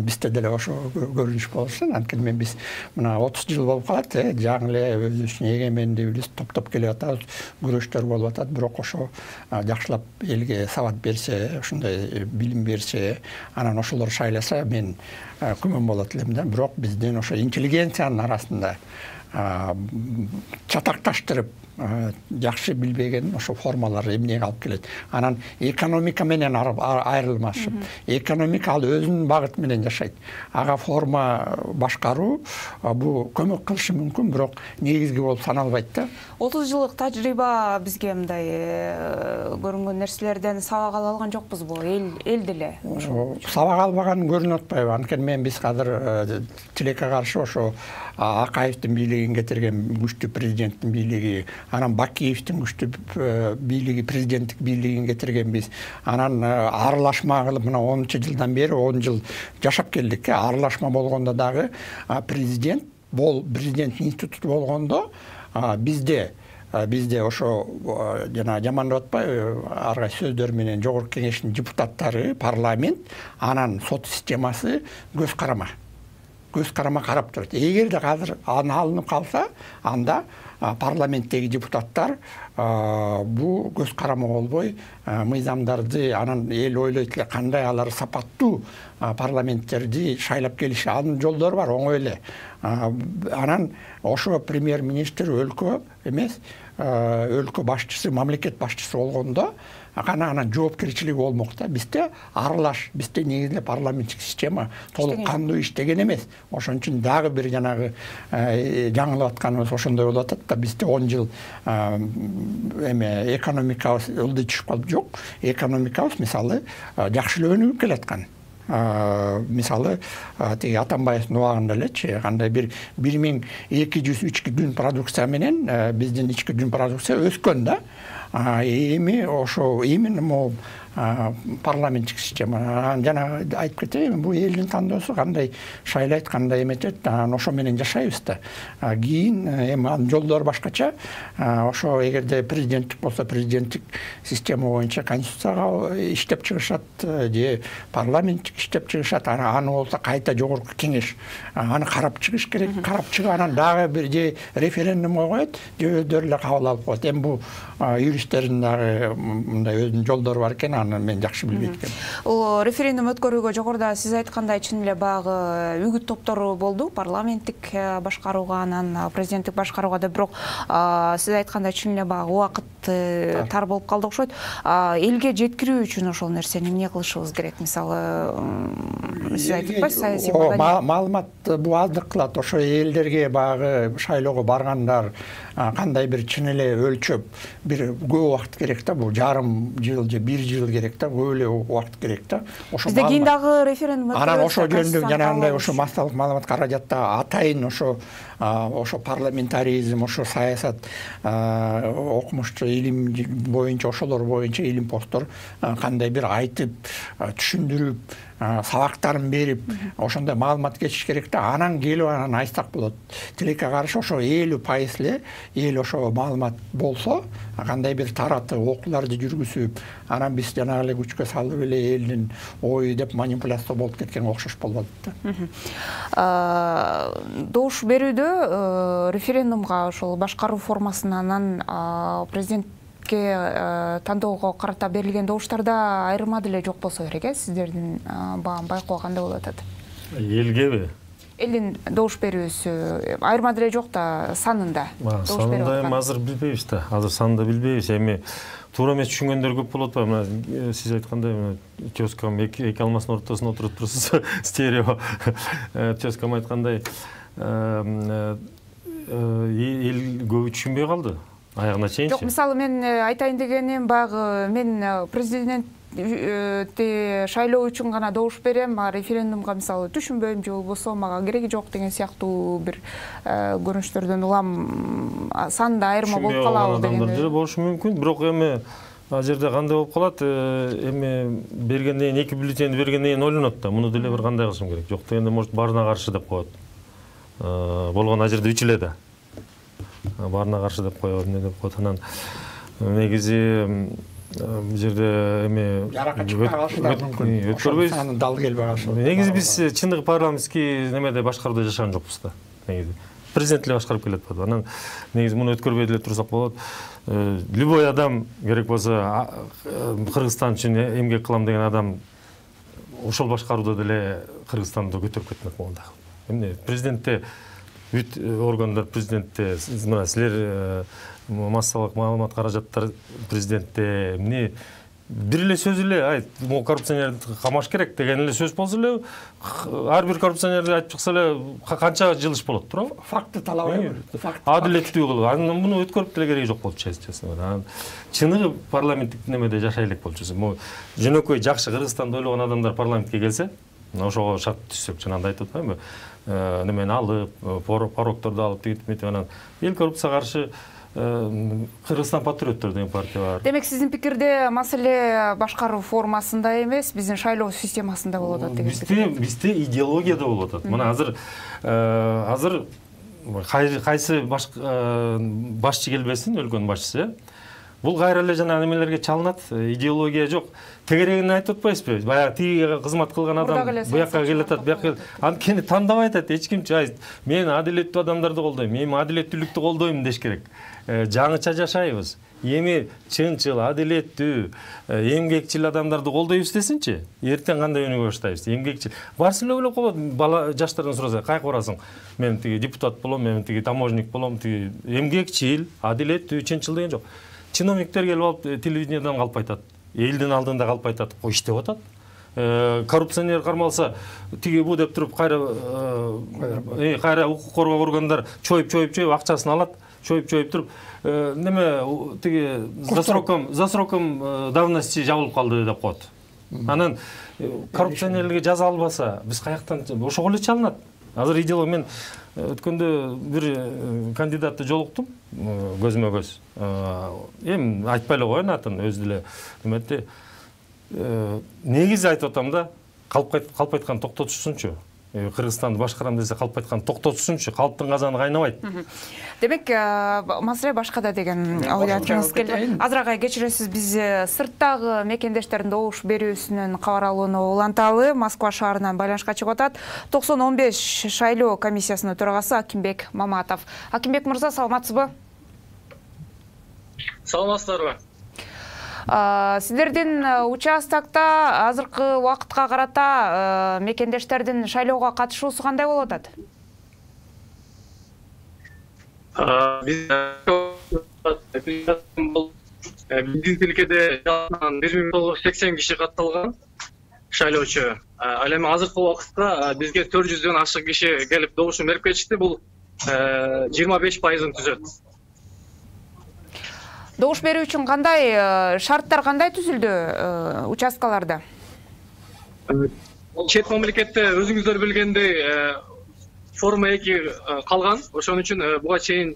Бизде деле ошо көрүнүш болушун. Анткени мен биз мына отуз жыл болуп калат, жаңы эле өзүбүздүн эгемендигибиз топтоп келип атабыз, күрөштөр болуп атат. Бирок ошо жакшылап элге сабат берсе, ошондой билим берсе, анан ошолор шайласа, мен күмөн болот элем да. Бирок биздин ошо интеллигенциянын арасында чатакташтырып жакшы билбеген ошо формалар эмнеге алып келет. Анан экономика менен айрылмашып, экономика ал өзүнүн багыты менен жашайт. Ага форма башкаруу бул көмөк кылышы мүмкүн, бирок негизги болуп саналбайт да. отуз жылдык тажрыйба бизге мындай көрүнгөн нерселерден сабак ала алган жокпузбу? Эл эл деле сабак албаган көрүнүп атпайбы? Анткени мен биз азыр тилекке каршы ошо Акаевдин бийлигин кетирген күчтүү президенттин бийлиги, анан Бакиевдин күчтүү бийлиги, президенттик бийлигин кетиргенбиз. Анан аралашма кылып мына онунчу жылдан бери он жыл жашап келдик. Аралашма болгондо дагы президент бол президент институту болгондо бизде бизде ошо жана жамандап атпайбы, ар кайсы сөздөр менен жогорку кеңештин депутаттары, парламент, анан сот системасы көз карама. Көз карама карап турат. Эгерде азыр аны алынып калса, анда парламенттеги депутаттар бул көз карама болбой мыйзамдарды, анан эл ойлойт эле кандай алар сапаттуу парламенттерди шайлап келиши. Анын жолдору бар, оңой эле. Анан ошо премьер-министр өлкө эмес, өлкө башчысы, мамлекет башчысы болгондо гана анан жоопкерчилиги болмок да. Бизде аралаш, бизде негизинде парламенттик система толук кандуу иштеген эмес. Ошон үчүн дагы бир жанагы жаңылып атканыбыз ошондой болуп атат да. Бизде он жыл эме экономикабыз ылдый түшүп калып жок. Экономикабыз мисалы жакшылап өнүгүп келаткан. Мисалы тиги Атамбаевдин убагында элечи кандай бир бир миң эки жүз ички жүн продукция менен биздин ички жүн продукция өскөн да. Эми ошо именно могу парламенттик система. Жана айтып кетейин, бул элдин тандоосу кандай шайлайт, кандай эметет, анан ошо менен жашайбыз да. Кийин эми анын жолдору башкача. Ошо эгерде президенттик болсо президенттик система боюнча конституцияга иштеп чыгышат же парламенттик иштеп чыгышат. Аны болсо кайта жогорку кеңеш аны карап чыгыш керек. Карап чыгып анан дагы бир же референдумга коет, же өздөрү эле кабыл алып коет. Эми бул юристтердин дагы мындай өзүнүн жолдору бар экен. Мен жакшы билбейт экенмин. Ул референдум өткөрүүгө жогоруда сиз айткандай чын эле баягы үгүт топтору болду, парламенттик башкарууга, анан президенттик башкарууга да, бирок сиз айткандай чын эле баягы убакыт тар болуп калды окшойт. Элге жеткирүү үчүн ошол нерсени эмне кылышыбыз керек? Мисалы, сиз айтып атпайсыз, саясий маалымат бул аздык кылат. Ошо элдерге баягы шайлоого баргандар кандай бир чын эле өлчөп бир көп убакыт керек да. Бул жарым жыл же бир жыл керек да, көп эле убакыт керек да. Ошо бизде кийин дагы референдум өткөрүлөт. Анан ошо жөнүндө жанагындай ошо массалык маалымат каражатта атайын ошо ошо парламентаризм, ошо саясат, окумушту илим боюнча, ошолор боюнча илим посттор кандай бир айтып, түшүндүрүп, сабактарын берип, ошондой маалымат кетиш керек да. Анан келип анан айтсак болот. Тилекке каршы ошо элүү пайыз эле эл ошо маалымат болсо, кандай бир таратып, окууларды жүргүзүп, анан биз жанагы эле күчкө салып эле элдин ою деп манипуляция болуп кеткен окшош болбоду да. Добуш берүүдө референдумга ошол башкаруу формасынан президент тандоого карата берилген добуштарда айырма деле жок болсо керек, э? Сиздердин байкоо кандай болуп атат? Элгеби? Элдин добуш берүүсү айырма деле жок да, санында. Санында эми азыр билбейбиз да. Азыр санында билбейбиз. Эми туура эмес түшүнгөндөр көп болот ба? Мына сиз айткандай, тезкам эки алмаснын ортосуна отуруп турсуз, стерео. Тезкам айткандай, эл көбү түшүнбөй калды. Аягына чейинчи. Жок, мисалы мен айтайын дегеним, баягы мен президентти шайлоо үчүн гана добуш берем, а референдумга мисалы түшүнбөйм же болбосо мага кереги жок деген сыяктуу бир көрүнүштөрдөн улам санда айырма болуп калабы деген. Адамдар деле болушу мүмкүн, бирок эми ал жерде кандай болуп калат, эми бергенден кийин эки бюллетенди бергенден кийин ойлонот да, муну деле бир кандай кылышым керек. Жок дегенде может баарына каршы деп коет. Болгон ал жерде үч эле да. Баарына каршы деп коет, эмне деп коет. Анан негизи бул жерде эми өткөрбөйбүз. Анын дал келбей калышы. Негизи биз чындыгы парламенттик немеде башкарууда жашаган жокпуз да. Негизи президент эле башкарып келатпайбы. Анан негизи муну өткөрбөй деле турсак болот. Любой адам керек болсо Кыргызстан үчүн эмгек кылам деген адам ошол башкарууда деле Кыргызстанды көтөрүп кетмек болгондо. Эмне президентте бүт органдар президентте, мына силер массалык маалымат каражаттар президентте, эмне бир эле сөз эле айт, могу коррупционерди камаш керек деген эле сөз болсо эле, ар бир коррупционерди айтып чыкса эле канча жыл иш болот, туурабы? Факты талабай. Адилеттүү кылып, анан муну өткөрүп деле кереги жок болчу, честно. Анан чыныгы парламенттик немеде жашай элек болчу. Могу жөнөкөй жакшы Кыргызстанды ойлогон адамдар парламентке келсе, ошого шарт түзсөк, жанагындай айтып атпаймынбы? Немени алып, порокторду алып, тигип анан эл коррупцияга каршы Кыргызстан патриоттор деген партия бар. Демек, сиздин пикирде маселе башкаруу формасында эмес, биздин шайлоо системасында болуп атат деген пикир. Бизде бизде идеологияда болуп атат. Мына азыр азыр кайсы башчы келбесин, өлкөнүн башчысы, бул кайра эле жана немелерге чалынат, идеология жок. Тегерегин айтып атпайсызбы? Баягы тиги кызмат кылган адам буякка келатат, буякка анткени тандабай айтат, эч ким мен адилеттүү адамдарды колдойм, мен адилеттүүлүктү колдойм деш керек. Жаңыча жашайбыз. эми чынчыл, адилеттүү, эмгекчил адамдарды колдойбуз десинчи, эртең кандай өнүгө баштайбыз? Эмгекчил. Барсы эле болот. Бала жаштардан сураса, кайка барасың? Мен тиги депутат болом, мен тиги таможник болом, тиги эмгекчил, адилеттүү, чынчыл деген жок. Чиновниктер келип алып телевидениеден калп айтат. Элдин алдында калп айтат. Ой, иштеп атат. Коррупционер кармалса, тиги бу деп туруп кайра кайра укук коргоо органдар чоюп чоюп чоюп акчасын алат. Чоюп чоюп туруп, неме тиги за сроком, за сроком давности жабылып калды деп коет. Анан коррупционерлерге жаза албаса, биз каяктан ошого эле чалынат. Азыр идеолог мен өткөндө бир кандидатты жолуктум, көзмө көз. Эми айтпай эле коеюн атын, өзү деле неметти. Негизи айтып атам да, калп айткан токтотушсунчу. Кыргызстанды башкарам десе калп айткан токтотушсунчу, калптын казаны кайнабайт. Демек, маселе башкада деген ой айткыңыз келди. Азырагай кечиресиз, биз сырттагы мекендештердин добуш берүүсүнөн кабар алууну уланталы. Москва шаарынан байланышка чыгып атат. токсон он беш шайлоо комиссиясынын төрагасы Акимбек Маматов. Акимбек мырза, саламатсызбы? Саламатсыздарбы? Сиздердин участокто азыркы убакытка карата мекендештердин шайлоого катышуусу кандай болуп атат? Биздин тилкеде бир миң тогуз жүз сексен киши катталган шайлоочу. Ал эми азыркы убакытта бизге төрт жүздөн ашык киши келип добушун берип кетишти. Бул жыйырма беш пайызын түзөт. Добуш берүү үчүн кандай шарттар кандай түзүлдү участкаларда? Чет мамлекетте өзүңүздөр билгендей форма эки калган. Ошон үчүн буга чейин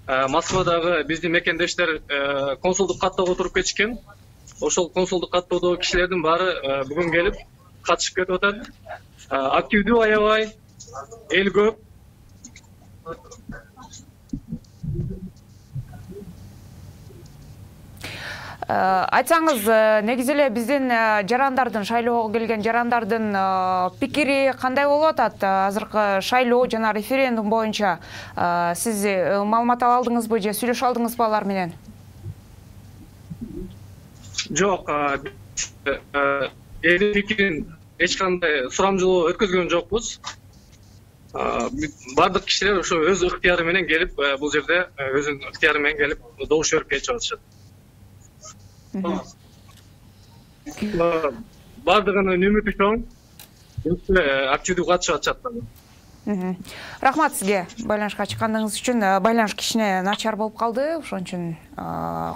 Москвадагы биздин мекендештер консулдук каттоого туруп кетишкен. Ошол консулдук каттоодогу кишилердин баары бүгүн келип катышып кетип атат. Активдүү аябай, эл көп. Айтсаңыз, негизи эле биздин жарандардын, шайлоого келген жарандардын пикири кандай болуп атат? Азыркы шайлоо жана референдум боюнча сиз маалымат ала алдыңызбы же сүйлөшө алдыңызбы алар менен? Жок, элдин пикирин эч кандай сурамжылоо өткөзгөн жокпуз. Бардык кишилер ошо өз ыктыяры менен келип, бул жерде өзүнүн ыктыяры менен келип добуш берип кетип атышат. Бардыгынын үмүтү чоң, активдүү катышып атышат. Рахмат сизге байланышка чыккандыгыңыз үчүн. Байланыш кичине начар болуп калды, ошон үчүн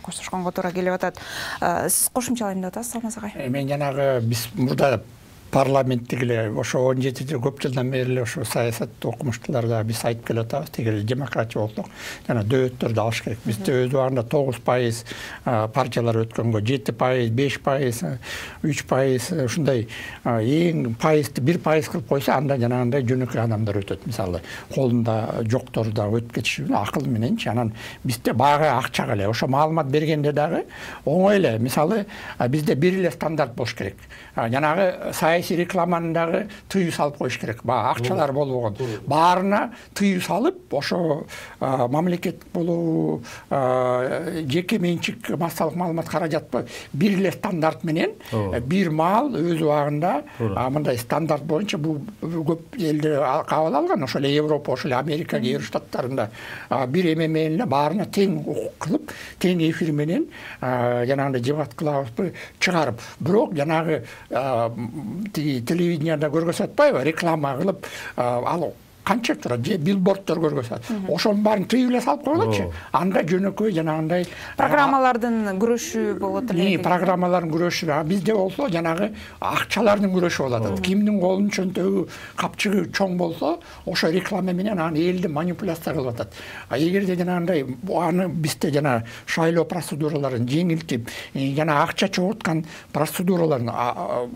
коштошконго туура келип атат. Сиз кошумчалайм деп атасыз, Салмаз агай? Мен жанагы биз мурда парламенттик эле ошо он жети жыл көп жылдан бери эле ошо саясатты окумуштууларда биз айтып келе атабыз, тигил демократия болсок жана дөбөттөрдү алыш керек. Бизде өз убагында тогуз пайыз партиялар өткөнгө, жети пайыз, беш пайыз, үч пайыз ушундай эң пайызды бир пайыз кылып койсо, анда жанагындай жөнөкөй адамдар өтөт. Мисалы, колунда жоктор да өтүп кетиши акыл мененчи. Анан бизде баягы акчага эле ошо маалымат бергенде дагы оңой эле. Мисалы, бизде бир эле стандарт болуш керек. Жанагы саясий рекламаны дагы тыюу салып коюш керек. Баягы акчалар болбогон. Баарына тыюу салып, ошо мамлекет болобу, жеке менчик массалык маалымат каражатпы бир эле стандарт менен бир маал өз убагында мындай стандарт боюнча бул көп элдер кабыл алган. Ошол эле Европа, ошол эле Америка кээ бир штаттарында бир эме менен эле баарына тең укук кылып, тең эфир менен жанагындай дебат кылабызбы чыгарып. Бирок жанагы телевиденияда көргөзүп атпайбы, реклама кылып ал канча турат, же билборддор көргөзөт. Ошонун баарын тыюу эле салып коелочу. Анда жөнөкөй жанагындай программалардын күрөшү болот эле. Программалардын күрөшү, бизде болсо жанагы акчалардын күрөшү болот. Кимдин колунун чөнтөгү, капчыгы чоң болсо, ошо реклама менен аны элди манипуляция кылып атат. А эгерде жанагындай аны бизде жана шайлоо процедураларын жеңилтип, жана акча чогулткан процедураларын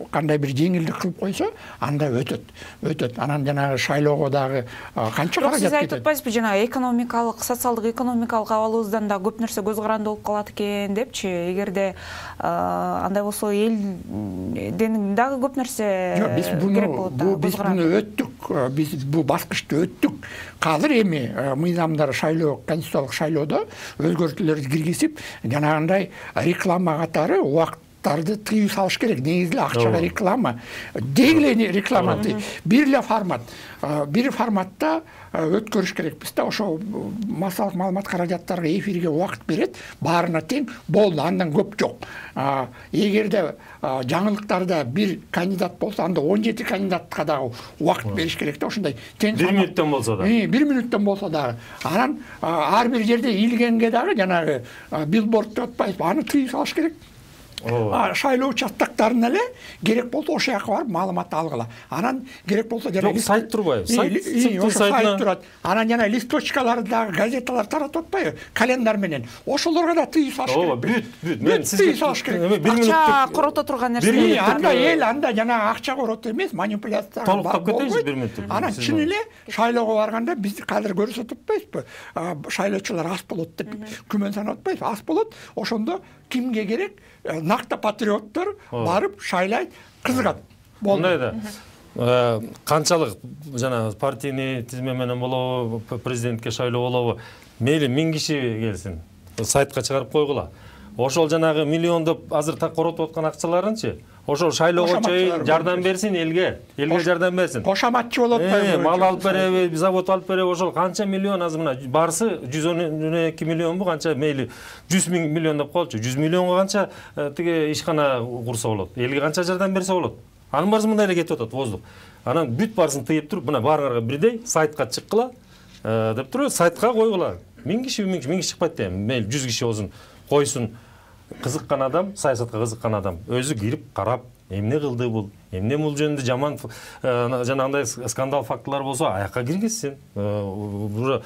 кандай бир жеңилдик кылып койсо, анда өтөт. Өтөт. Анан жанагы шайлоого дагы канча каражат кетет. Сиз айтып кетет. атпайсызбы жана экономикалык, социалдык экономикалык абалыбыздан да көп нерсе көз каранды болуп калат экен депчи. Эгерде андай болсо элден дагы көп нерсе керек болот да. Биз буну өттүк, биз бул баскычты өттүк. Азыр эми мыйзамдар шайлоо, конституциялык шайлоодо өзгөртүүлөрдү киргизип, жанагындай реклама катары убакыттарды тыюу салыш керек. Негизи эле акчага реклама, деги эле реклама, бир эле формат, бир форматта өткөрүш керекпиз да. Ошо массалык маалымат каражаттарга эфирге убакыт берет, баарына тең болду, андан көп жок. Эгерде жаңылыктарда бир кандидат болсо, анда он жети кандидатка дагы убакыт бериш керек да. Ошондой тең бир мүнөттөн болсо да. бир мүнөттөн болсо дагы. Анан ар бир жерде ийилгенге дагы жанагы билборд деп атпайбызбы, аны тыюу салыш керек. Шайлоо участактарына эле керек болсо ошол жака барып маалымат алгыла. Анан керек болсо жана сайт турбайбы? Сайт турат. Анан жана листочкаларды дагы газеталар таратып атпайбы? Календар менен. Ошолорго да тыюу салыш керек. Бүт, бүт. Мен тыюу салыш керек. Акча корото турган нерсе. Анда эл, анда жана акча корото эмес, манипуляция. Толуктап кетейинчи бир мүнөттүк. Анан чын эле шайлоого барганда биз азыр көрсөтүп атпайбызбы? Шайлоочулар аз болот деп күмөн санап атпайбызбы? Аз болот. Ошондо кимге керек? Накта патриоттор барып шайлайт, кызыгат. Мындай да. Канчалык жана партийный тизме менен болобу, президентке шайлоо болобу, мейли миң киши келсин, сайтка чыгарып койгула. Ошол жанагы миллиондоп азыр так коротуп аткан акчаларынчы ошол шайлоого чейин жардам берсин элге, элге жардам берсин. Кошаматчы болуп атпайбы? Мал алып береби, завод алып береби, ошол канча миллион азыр мына барсы жүз он эки миллионбу, канча мейли жүз миң миллион деп коелучу. жүз миллионго канча тиги ишкана курса болот, элге канча жардам берсе болот. Анын баарысы мындай эле кетип атат воздух. Анан бүт баарысын тыйып туруп, мына баарыңарга бирдей сайтка чыккыла деп туруп, сайтка койгула. миң киши, миң киши, миң киши чыкпайт дейм, мейли жүз киши болсун, койсун. Кызыккан адам, саясатка кызыккан адам өзү кирип карап, эмне кылды бул, эмне бул жөнүндө жаман жанагындай скандал фактылар болсо аяка киргизсин. Уже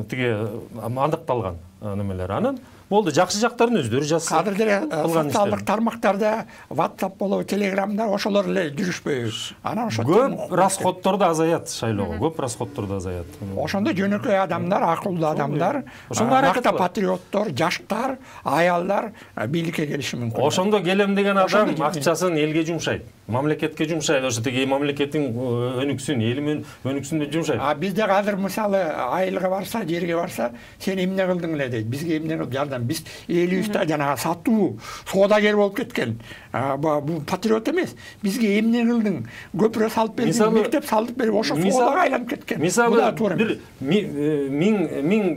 тиги андыкталган немелер. Анан болду, жакшы жактарын өздөрү жазсын. Азыр деле социалдык тармактарда WhatsApp болобу, Telegramдар ошолор эле жүрүшпөйбү. Анан ошо көп расходторду азаят шайлоого, көп расходторду азаят. Ошондо жөнөкөй адамдар, акылдуу адамдар, накта патриоттор, жаштар, аялдар бийликке келиши мүмкүн. Ошондо келем деген адам акчасын элге жумшайт, мамлекетке жумшайт, ошо тиги мамлекеттин өнүксүн, элим өнүксүн деп жумшайт. А бизде азыр мисалы айылга барса, жерге барса, сен эмне кылдың эле дейт, бизге эмне кылып жардам. Биз элибизде жанагы сатуу, соодагер болуп кеткен. Бул патриот эмес. Бизге эмне кылдың? Көпүрө салып бердиң, мектеп салып берип, ошо соодага айланып кеткен. Мисалы бир миң миң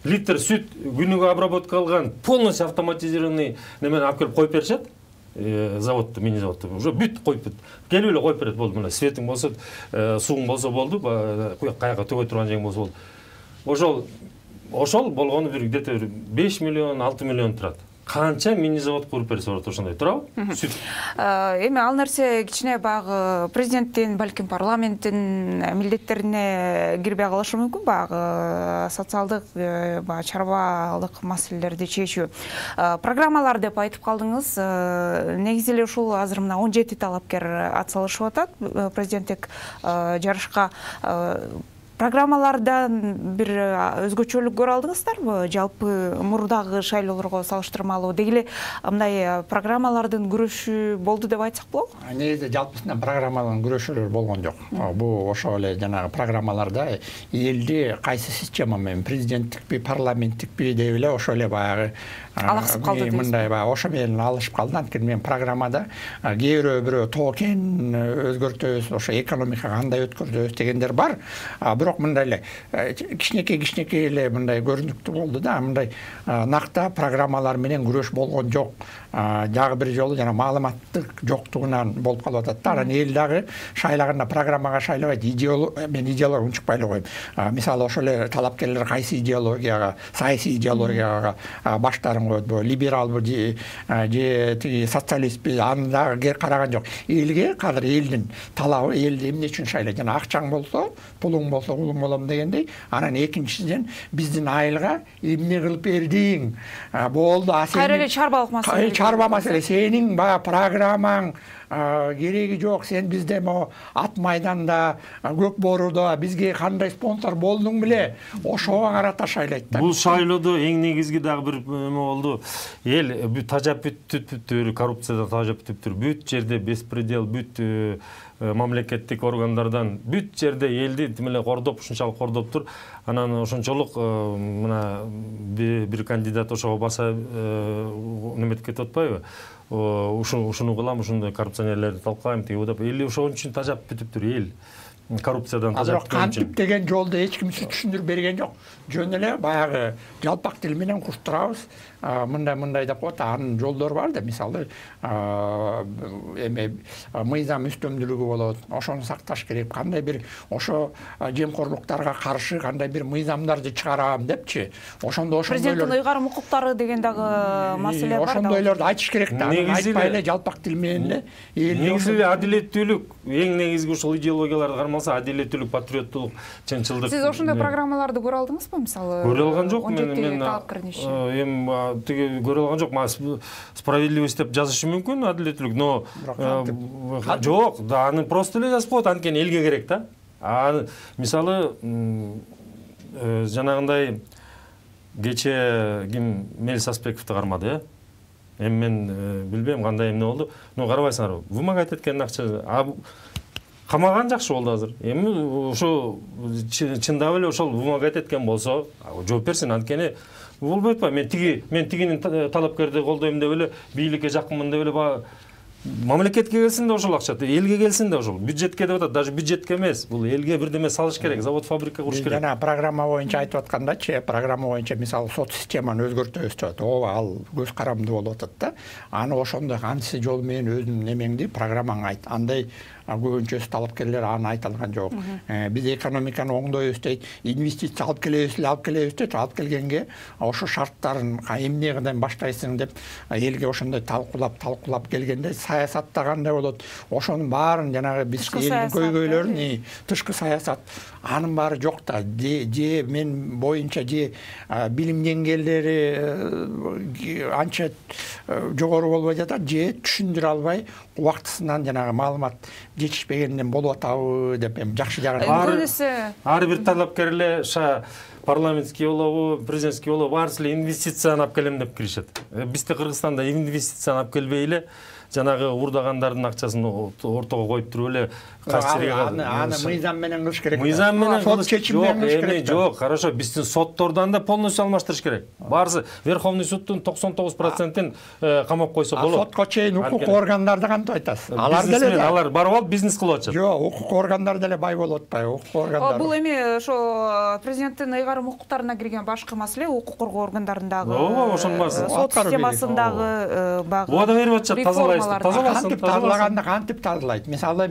литр сүт күнүгө обработка кылган полностью автоматизированный немен алып келип коюп беришет. Заводду, мини заводду уже бүт коюп келип эле коюп берет, болду. Мына светиң болсо, сууң болсо болду, каяка төгөй турган жериң болсо болду. Ошол Ошол болгону бир где-то беш миллион, алты миллион турат. Канча мини завод куруп берсе болот, ошондой туурабы? Сүт. Эми ал нерсе кичине баягы президенттин, балким парламенттин милдеттерине кирбей калышы мүмкүн, баягы социалдык, баягы чарбалык маселелерди чечүү. Программалар деп айтып калдыңыз. Негизи эле ушул азыр мына он жети талапкер атсалышып атат президенттик жарышка. Программалардан бир өзгөчөлүк көрө алдыңыздарбы? Жалпы мурдагы шайлоолорго салыштырмалуу деги эле мындай программалардын күрөшү болду деп айтсак болобу? Негизи жалпысынан программалардын күрөшүүлөр болгон жок. Бул ошол эле жанагы программаларда элди кайсы система менен, президенттикпи, парламенттикпи деп эле ошол эле баягы алаксып калды дейсизби? Мындай баягы ошо менен алышып калды. Анткени мен программада кээ бирөө бирөө токен өзгөртөбүз, ошо экономикага кандай өткөрөбүз дегендер бар. Бирок мындай эле кичинекей кичинекей эле мындай көрүнүктүү болду да. Мындай накта программалар менен күрөш болгон жок. Дагы бир жолу жана маалыматтык жоктугунан болуп калып атат да. Анан эл дагы шайлаганда программага шайлабайт, идеология, мен идеология унчукпай эле коем. Мисалы ошол эле талапкерлер кайсы идеологияга, саясий идеологияга баштарын коет, либералбы же тиги социалистпи, аны дагы караган жок. Элге кадыр элдин талабы, элди эмне үчүн шайлайт? Жана акчаң болсо, пулуң болсо улуң болом дегендей. Анан экинчиден биздин айылга эмне кылып бердиң? Болду, а сен кайра эле чарбалык маселе. Чарба маселе, сенин баягы программаң кереги жок, сен бизде могу ат майданда, көк боорудо бизге кандай спонсор болдуң беле, ошого карата шайлайт да. Бул шайлоодо эң негизги дагы бир эме болду. Эл тажап бүтүптүр, коррупцияда тажап бүтүптүр. Бүт жерде беспредел, бүт мамлекеттик органдардан бүт жерде элди тим эле кордоп, ушунчалык кордоптур. Анан ошончолук мына бир кандидат ошого баса неметип кетип атпайбы? Ушуну кылам, ушундай коррупционерлерди талкалайм тиги деп. Эл ошон үчүн тажап бүтүптүр эл. Коррупциядан тажап бүткөн үчүн. Кантип деген жолду эч ким түшүндүрүп берген жок. Жөн эле баягы жалпак тил менен куштурабыз. Мындай-мындай деп коет. Анын жолдору бар да, мисалы, эме мыйзам үстөмдүүлүгү болот. Ошону сакташ керек. Кандай бир ошо жемкорлуктарга каршы кандай бир мыйзамдарды чыгарам депчи. Ошондо ошондойлор президенттин ыйгарым укуктары деген дагы маселе бар да. Ошондойлорду айтыш керек да. Айтпай эле жалпак тил менен эле. Негизи эле адилеттүүлүк, эң негизги ушул идеологияларды кармалса, адилеттүүлүк, патриоттулук, чынчылдык. Сиз ошондой программаларды көрө алдыңызбы, мисалы? Көрө алган жок мен. Мен эми тиги көрө алган жок. Справедливость деп жазышы мүмкүн, адилеттүүлүк, но жок, да аны просто эле жазып коет, анткени элге керек да. А мисалы жанагындай кече ким Мел Саспековду кармады, э? Эми мен билбейм кандай эмне болду. Но карабайсыңарбы? Вымогать эткен акча камаган жакшы болду азыр. Эми ошо чындап эле ошол вымогать эткен болсо, жооп берсин, анткени болбойт ба? Мен тиги мен тигинин талапкерди колдойм деп эле, бийликке жакынмын деп эле мамлекетке келсин да ошол акча, элге келсин да ошол. Бюджетке деп атат, даже бюджетке эмес. Бул элге бирдеме салыш керек, завод, фабрика куруш керек. Жана программа боюнча айтып аткандачы, программа боюнча мисалы сот системаны өзгөртөбүз деп атат. Ооба, ал көз карамдуу болуп атат да. Аны ошондой кантип жол менен өзүнүн эмеңди, программаңа айт. Андай көбүнчөсү талапкерлер аны айта алган жок. Биз экономиканы оңдойбуз дейт, инвестиция алып келебиз, алып келебиз дейт. Алып келгенге ошо шарттарын эмне кыдан баштайсың деп элге ошондой талкуулап, талкуулап келгенде саясатта кандай болот? Ошонун баарын жанагы биз элдин көйгөйлөрүн, тышкы саясат, анын баары жок да. Же мен боюнча же билим деңгээлдери анча жогору болбой жатат, же түшүндүрө албай убактысынан жанагы маалымат жетишпегенден болуп атабы деп эми жакшы жагын. Ар бир талапкер эле парламентский болобу, президентский болобу, баарысы эле инвестицияны алып келем деп киришет. Бизде Кыргызстанда инвестицияны алып келбей эле жанагы уурдагандардын акчасын ортого коюп туруп эле качырга аны мыйзам менен кылыш керек. Мыйзам менен сот чечим менен кылыш керек. Жок, хорошо, биздин соттордон да полностью алмаштырыш керек. Баарысы Верховный судтун токсон тогуз процентин камап койсо болот. Сотко чейин укук органдарды кантип айтасыз? Алар деле алар барып алып бизнес кылып атышат. Жок, укук органдары деле бай болуп атпайбы? Укук органдары. Бул эми ошо президенттин ыйгарым укуктарына кирген башкы маселе, укук коргоо органдарындагы, ооба, ошонун баасы. Сот системасындагы багы. Убада берип атышат, тазалайсыз, тазалайсыз. Кантип тазалаганда кантип тазалайт? Мисалы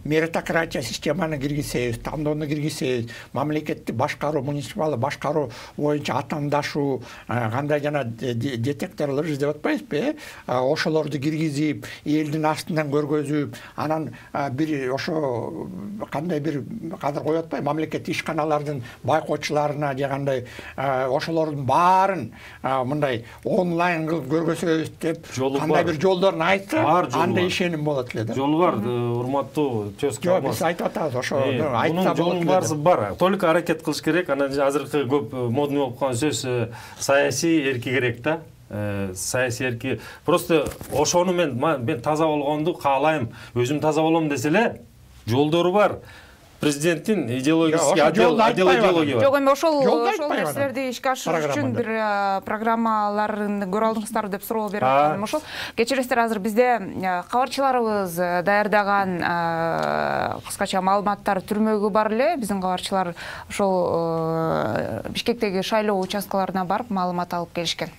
меритократия системаны киргизсебиз, тандоону киргизсебиз, мамлекеттик башкаруу, муниципалдык башкаруу боюнча атамдашуу, кандай жана детекторлор издеп атпайбызбы? Ошолорду киргизип, элдин астынан көргөзүп, анан бир ошо кандай бир кадыр коюп атпайбы? Мамлекеттик ишканалардын байкоочуларына же кандай ошолордун баарын мындай онлайн кылып көргөзөбүз деп, кандай бир жолдорун айтса, анда ишеним болот эле да. Жолу бар, урматтуу тезка. Жок, биз айтып атабыз, ошо айтса болот. Жолун барысы бар. Только аракет кылыш керек. Анан азыркы көп модный болуп калган сөз саясий эрки керек да. Саясий эрки. Просто ошону мен мен таза болгонду каалайм, өзүм таза болом десе эле жолдору бар. Президенттин идеологический отдел идеология бар. Жок, эми ошол ошол нерселерди ишке ашырыш үчүн бир программаларын көрө алдыңыздарбы деп суроо берип атканым ошол. Кечиресиздер, азыр бизде кабарчыларыбыз даярдаган кыскача маалыматтар түрмөгү бар эле. Биздин кабарчылар ошол Бишкектеги шайлоо участкаларына барып маалымат алып келишкен.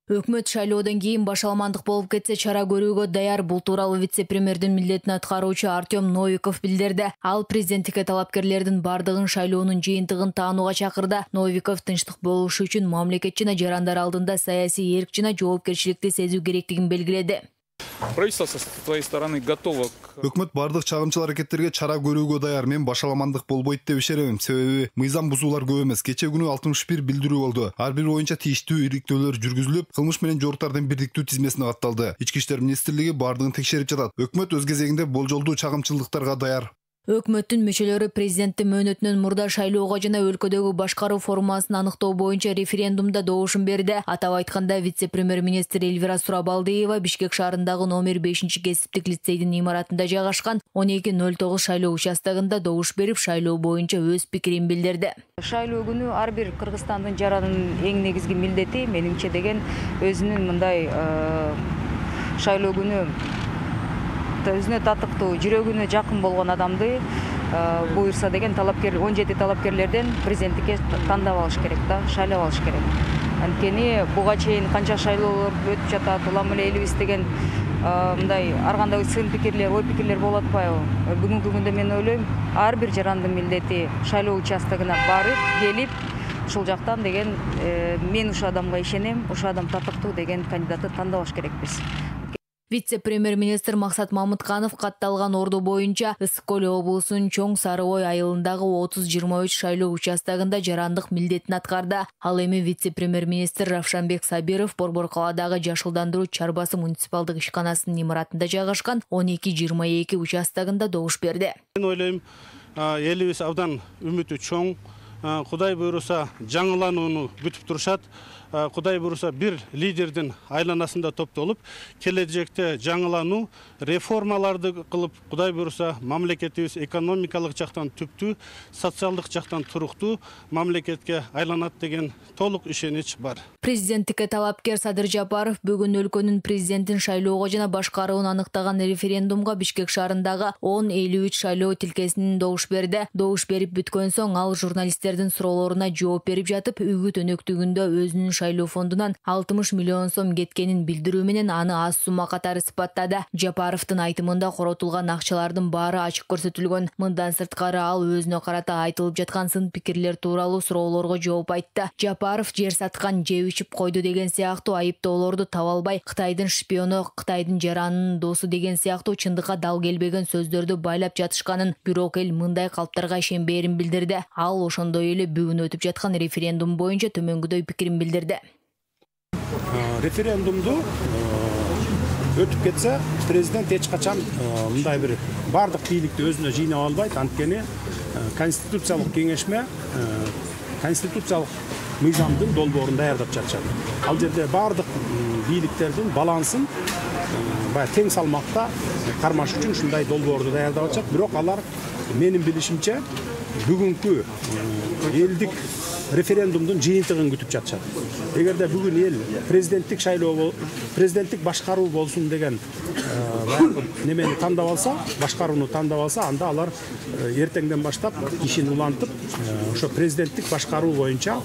Өкмөт шайлоодон кийин башаламандык болуп кетсе чара көрүүгө даяр. Бул тууралуу вице-премьердин милдетин аткаруучу Артем Новиков билдирди. Ал президенттикке талапкерлердин бардыгын шайлоонун жыйынтыгын таанууга чакырды. Новиков тынчтык болушу үчүн мамлекет жана жарандар алдында саясий эрк жана жоопкерчиликти сезүү керектигин белгиледи. Правительство со своей стороны готово. Өкмөт бардык чагымчыл аракеттерге чара көрүүгө даяр. Мен башаламандык болбойт деп ишенем. Себеби мыйзам бузуулар көп эмес. Кече күнү алтымыш бир билдирүү болду. Ар бир боюнча тийиштүү ириктөөлөр жүргүзүлүп, кылмыш менен жоруктардын бирдиктүү тизмесине катталды. Ички иштер министрлиги бардыгын текшерип жатат. Өкмөт өз кезегинде болжолдуу чагымчылдыктарга даяр. Өкмөттүн мүчөлөрү президенттин мөөнөтүнөн мурда шайлоого жана өлкөдөгү башкаруу формасын аныктоо боюнча референдумда добушун берди. Атап айтканда, вице-премьер-министр Эльвира Сурабалдиева Бишкек шаарындагы номер бешинчи кесиптик лицейдин имаратында жайгашкан он эки ноль тогуз шайлоо участогунда добуш берип, шайлоо боюнча өз пикирин билдирди. Шайлоо күнү ар бир Кыргызстандын жаранын эң негизги милдети менимче деген өзүнүн мындай шайлоо күнү өзүнө татыктуу, жүрөгүнө жакын болгон адамды буюрса деген талапкер он жети талапкерлерден президенттикке тандап алыш керек да, шайлап алыш керек. Анткени буга чейин канча шайлоолор өтүп жатат, улам эле элибиз деген мындай ар кандай сын пикирлер, ой пикирлер болуп атпайбы? Бүгүнкү күндө мен ойлойм, ар бир жарандын милдети шайлоо участогуна барып, келип, ушул жактан деген мен ушул адамга ишенем, ушул адам татыктуу деген кандидатты тандап алыш керекпиз. Вице-премьер-министр Максат Мамытканов катталган орду боюнча Ысык Көл облусунун Чоң Сарыбой айылындагы отуз жыйырма үч шайлоо участогунда жарандык милдетин аткарды. Ал эми вице-премьер-министр Равшанбек Сабиров Борбор калаадагы Жашылдандыруу чарбасы муниципалдык ишканасынын имаратында жайгашкан он эки жыйырма эки участогунда добуш берди. Мен ойлойм, элибиз абдан үмүтү чоң. Кудай буйруса жаңыланууну күтүп турушат. Кудай буйруса бир лидердин айланасында топтолуп, келечекте жаңылануу, реформаларды кылып, Кудай буйруса мамлекетибиз экономикалык жактан түптүү, социалдык жактан туруктуу мамлекетке айланат деген толук ишенич бар. Президенттикке талапкер Садыр Жапаров бүгүн өлкөнүн президентин шайлоого жана башкарууну аныктаган референдумга Бишкек шаарындагы он элүү үч шайлоо тилкесинин добуш берди. Добуш берип бүткөн соң ал журналисттердин суроолоруна жооп берип жатып, үгүт өнөктүгүндө өзүнүн шайлоо фондунан алтымыш миллион сом кеткенин билдирүү менен аны аз сумма катары сыпаттады. Жапаровдун айтымында коротулган акчалардын баары ачык көрсөтүлгөн. Мындан сырткары ал өзүнө карата айтылып жаткан сын пикирлер тууралуу суроолорго жооп айтты. Жапаров жер саткан, жеп ичип койду деген сыяктуу айыптоолорду таба албай, Кытайдын шпиону, Кытайдын жаранынын досу деген сыяктуу чындыкка дал келбеген сөздөрдү байлап жатышканын, бирок эл мындай калптарга ишенбээрин билдирди. Ал ошондой эле бүгүн өтүп жаткан референдум боюнча төмөнгүдөй пикирин билдирди. Референдумду өтүп кетсе, президент эч качан мындай бир бардык бийликти өзүнө жыйнап албайт. Анткени конституциялык кеңешме конституциялык мыйзамдын долбоорун даярдап жатышат. Ал жерде бардык бийликтердин балансын баягы тең салмакта кармаш үчүн ушундай долбоорду даярдап жатышат. Бирок алар менин билишимче бүгүнкү элдик референдумдун жыйынтыгын күтүп жатышат. Эгерде бүгүн эл президенттик шайлоо, президенттик башкаруу болсун деген немени тандап алса, башкарууну тандап алса, анда алар эртеңден баштап ишин улантып, ошо президенттик башкаруу боюнча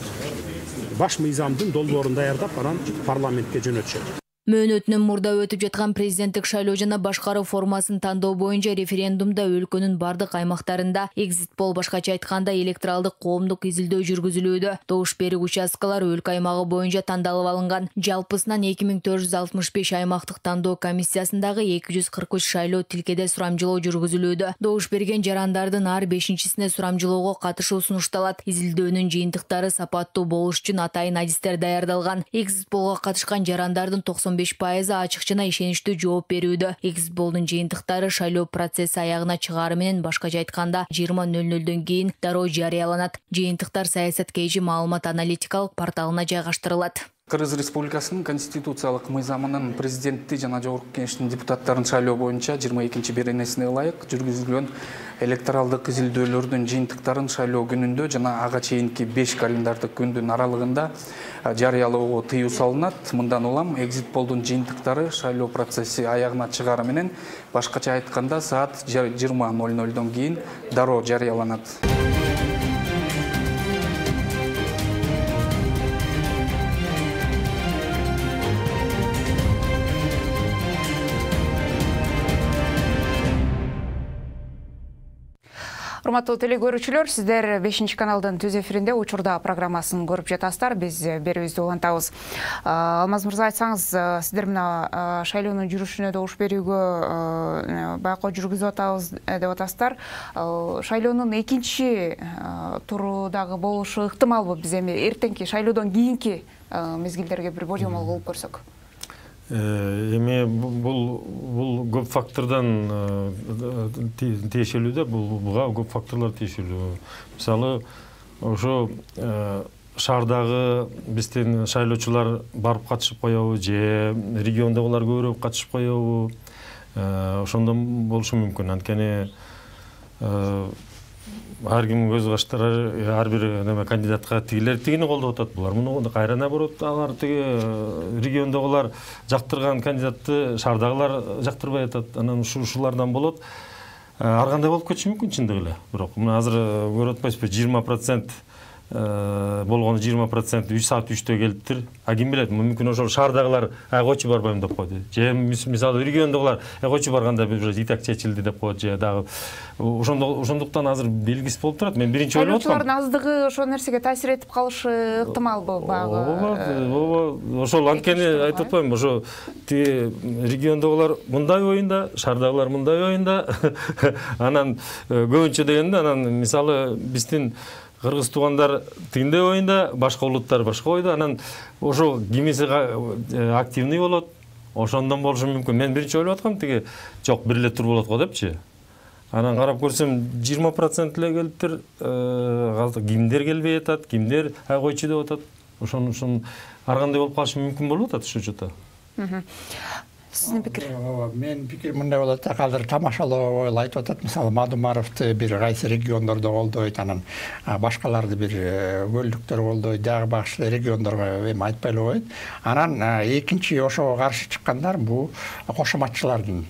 баш мыйзамдын долбоорун даярдап, анан парламентке жөнөтүшөт. Мөөнөтүнөн мурда өтүп жаткан президенттик шайлоо жана башкаруу формасын тандоо боюнча референдумда өлкөнүн бардык аймактарында экзит пол, башкача айтканда электоралдык коомдук изилдөө жүргүзүлүүдө. Добуш берүү участкалары өлкө аймагы боюнча тандалып алынган. Жалпысынан эки миң төрт жүз алтымыш беш аймактык тандоо комиссиясындагы эки жүз кырк үч шайлоо тилкеде сурамжылоо жүргүзүлүүдө. Добуш берген жарандардын ар бешинчисине сурамжылоого катышуу сунушталат. Изилдөөнүн жыйынтыктары сапаттуу болуш үчүн атайын адистер даярдалган. Экзит полго катышкан жарандардын токсон беш пайызы ачык жана ишеничтүү жооп берүүдө. Экзит полдун жыйынтыктары шайлоо процесси аягына чыгаары менен, башкача айтканда жыйырма ноль нөлдөн кийин дароо жарыяланат. Жыйынтыктар Саясат КЖ маалымат аналитикалык порталына жайгаштырылат. Кыргыз Республикасынын конституциялык мыйзамынын президентти жана жогорку кеңештин депутаттарын шайлоо боюнча жыйырма экинчи беренесине ылайык жүргүзүлгөн электоралдык изилдөөлөрдүн жыйынтыктарын шайлоо күнүндө жана ага чейинки беш календардык күндүн аралыгында жарыялоого тыюу салынат. Мындан улам экзит полдун жыйынтыктары шайлоо процесси аягына чыгаары менен, башкача айтканда саат жыйырма ноль нөлдөн кийин дароо жарыяланат. Урматтуу теле көрүүчүлөр, сиздер бешинчи каналдын түз эфиринде учурда программасын көрүп жатасыздар. Биз берүүбүздү улантабыз. Алмаз мырза, айтсаңыз, сиздер мына шайлоонун жүрүшүнө добуш берүүгө байкоо жүргүзүп атабыз деп атасыздар. Шайлоонун экинчи туру дагы болушу ыктымалбы? Биз эми эртеңки шайлоодон кийинки мезгилдерге бир божомол кылып көрсөк. Эми бул бул көп фактордон тиешелүү да, буга көп факторлор тиешелүү. Мисалы, ошо шаардагы биздин шайлоочулар барып катышып коебу же региондогулар көбүрөөк катышып коебу? Ошондон болушу мүмкүн. Анткени ар ким көз качтырар, ар бир неме кандидатка тигилер тигини колдоп атат, булар муну кайра наоборот, алар тиги региондогулар жактырган кандидатты шаардагылар жактырбай атат. Анан ушулардан болот. Ар кандай болуп кетиши мүмкүн чындыгы эле. Бирок мына азыр көрүп атпайсызбы, жыйырма процент болгону жыйырма процент үч саат үчтө келиптир. А ким билет, мүмкүн ошол шаардагылар койчу барбайм деп койду. Же мисалы региондогулар койчу барганда бир итак чечилди деп коет, же дагы ошондуктан азыр белгисиз болуп турат. Мен биринчи ойлоп атам. Шайлоочулардын аздыгы ошол нерсеге таасир этип калышы ыктымалбы багы? Ооба, ошол анткени айтып атпаймынбы, ошо тиги региондогулар мындай оюнда, шаардагылар мындай оюнда. Анан көбүнчө дегенде, анан мисалы биздин кыргыз туугандар тигиндей оюнда, башка улуттар башка ойдо. Анан ошо кимиси активный болот. Ошондон болушу мүмкүн. Мен биринчи ойлоп аткам, тиги жок, бир эле тур болот го депчи. Анан карап көрсөм жыйырма процент эле келиптир. Кимдер келбей атат, кимдер койчу деп атат. Ошон ушун ар кандай болуп калышы мүмкүн болуп атат ошол жото. Сиздин пикир? Мен пикир мындай болот да, азыр тамашалоо ой айтып атат. Мисалы Мадумаровду бир кайсы региондордо колдойт, анан башкаларды бир көлдүктөр колдойт, дагы башка региондорго эми айтпай эле коет. Анан экинчи ошого каршы чыккандар бул кошоматчылардын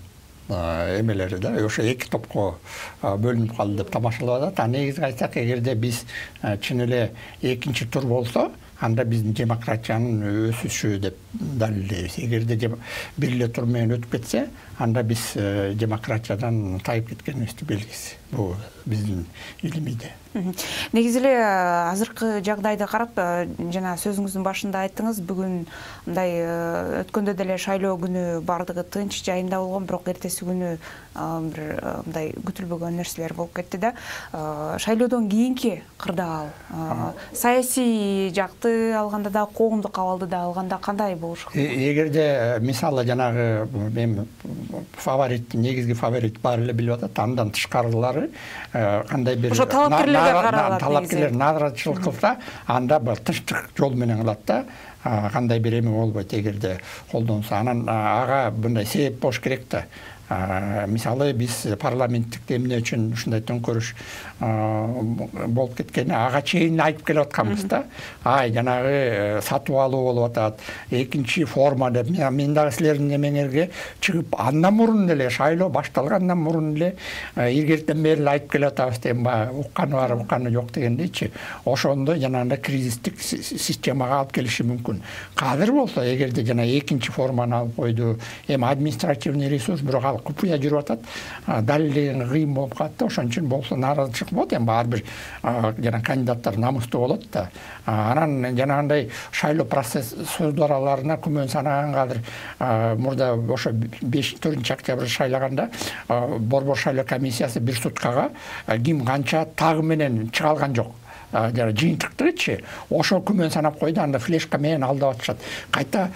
эмелери да, ошо эки топко бөлүнүп калды деп тамашалап атат. А негизги айтсак, эгерде биз чын эле экинчи тур болсо, анда биздин демократиянын өсүшү деп далилдейбиз. Эгерде бир эле тур менен өтүп кетсе, анда биз демократиядан тайып кеткенибизди белгиси. Бул биздин илимиде. Негизи эле азыркы жагдайды карап, жана сөзүңүздүн башында айттыңыз, бүгүн мындай өткөндө деле шайлоо күнү бардыгы тынч жайында болгон, бирок эртеси күнү бир мындай күтүлбөгөн нерселер болуп кетти да. Шайлоодон кийинки кырдаал, саясий жакты алганда да, коомдук абалды да алганда кандай болушу мүмкүн? Эгерде мисалы жанагы мен фаворит, негизги фаворит бар эле билип атат, андан тышкарылары кандай бир ошо талапкерлерге каралат. Талапкерлер наразычылык кылса, анда бир тынчтык жол менен кылат да. Кандай бир эме болбойт эгерде колдонсо. Анан ага мындай себеп болуш керек да. Мисалы биз парламенттик эмне үчүн ушундай төңкөрүш болуп кеткени ага чейин айтып келип атканбыз да. Ай, жанагы сатып алуу болуп атат, экинчи форма деп. Мен дагы силердин эмеңерге чыгып, андан мурун эле шайлоо башталгандан мурун эле илгертен бери эле айтып келип атабыз дейм, укканы бар, укканы жок дегендейчи. Ошондо жанагындай кризистик системага алып келиши мүмкүн. Кадыр болсо, эгерде жана экинчи форманы алып койду, эми административный ресурс, бирок ал купуя жүрүп атат, далилдеген кыйын болуп калат да. Ошон үчүн болсо нааразычылык болот, эми ар бир жана кандидаттар намыстуу болот да. Анан жанагындай шайлоо процедураларына күмөн санаган кадыр мурда ошо төртүнчү октябрь шайлаганда борбор шайлоо комиссиясы бир суткага ким канча тагы менен чыга алган жок. Жана жыйынтыктычы ошо күмөн санап койду, анда флешка менен алдап атышат. Кайта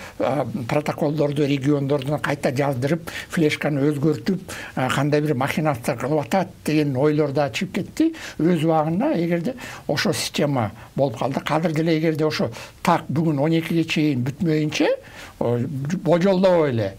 протоколдорду региондордон кайта жаздырып, флешканы өзгөртүп, кандай бир махинация кылып атат деген ойлор да чыгып кетти. Өз убагында эгерде ошо система болуп калды, кадыр деле эгерде ошо так бүгүн он экиге чейин бүтмөйүнчө божолдобой эле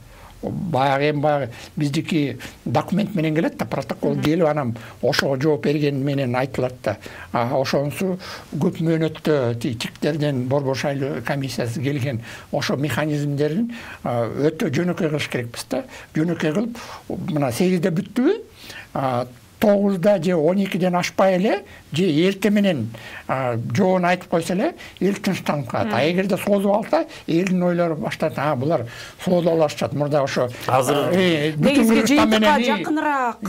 баягы эми баягы биздики документ менен келет да, протокол келип, анан ошого жооп берген менен айтылат да. Ошонусу көп мөөнөттө тиктерден борбор шайлоо комиссиясы келген ошо механизмдерин өтө жөнөкөй кылыш керекпиз да. Жөнөкөй кылып, мына сегизде бүттүбү, тогузда же он экиден ашпай эле же эртең менен жоон айтып койсо эле эл тынчтанып калат. А эгерде созуп алса, элдин ойлору баштайт, а булар созуп алышат. Мурда ошо азыр негизги жыйынтыкка жакыныраак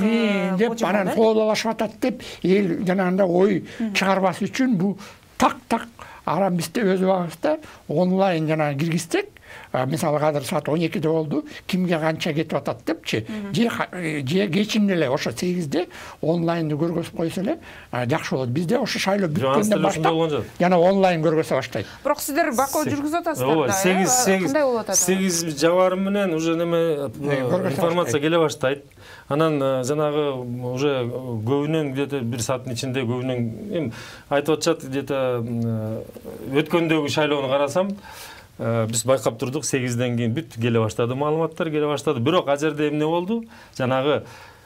деп анан созуп алышып атат деп эл жанагындай ой чыгарбас үчүн бул так-так арам бизде өз убагыбызда онлайн жана киргизсек, мисалы азыр саат он экиде болду, кимге канча кетип атат депчи, же кечинде эле ошо сегизде онлайнды көргөзүп койсо эле жакшы болот. Бизде ошо шайлоо бүткөндөн баштап жана онлайн көргөзө баштайт. Бирок сиздер бакоо жүргүзүп атасыздар да, кандай болуп атат? сегиз жабарым менен уже неме информация келе баштайт. Анан жанагы уже көбүнөн где-то бир сааттын ичинде көбүнөн эми айтып атышат, где-то өткөндөгү шайлоону карасам, биз байкап турдук, сегизден кийин бүт келе баштады, маалыматтар келе баштады. Бирок ал жерде эмне болду? Жанагы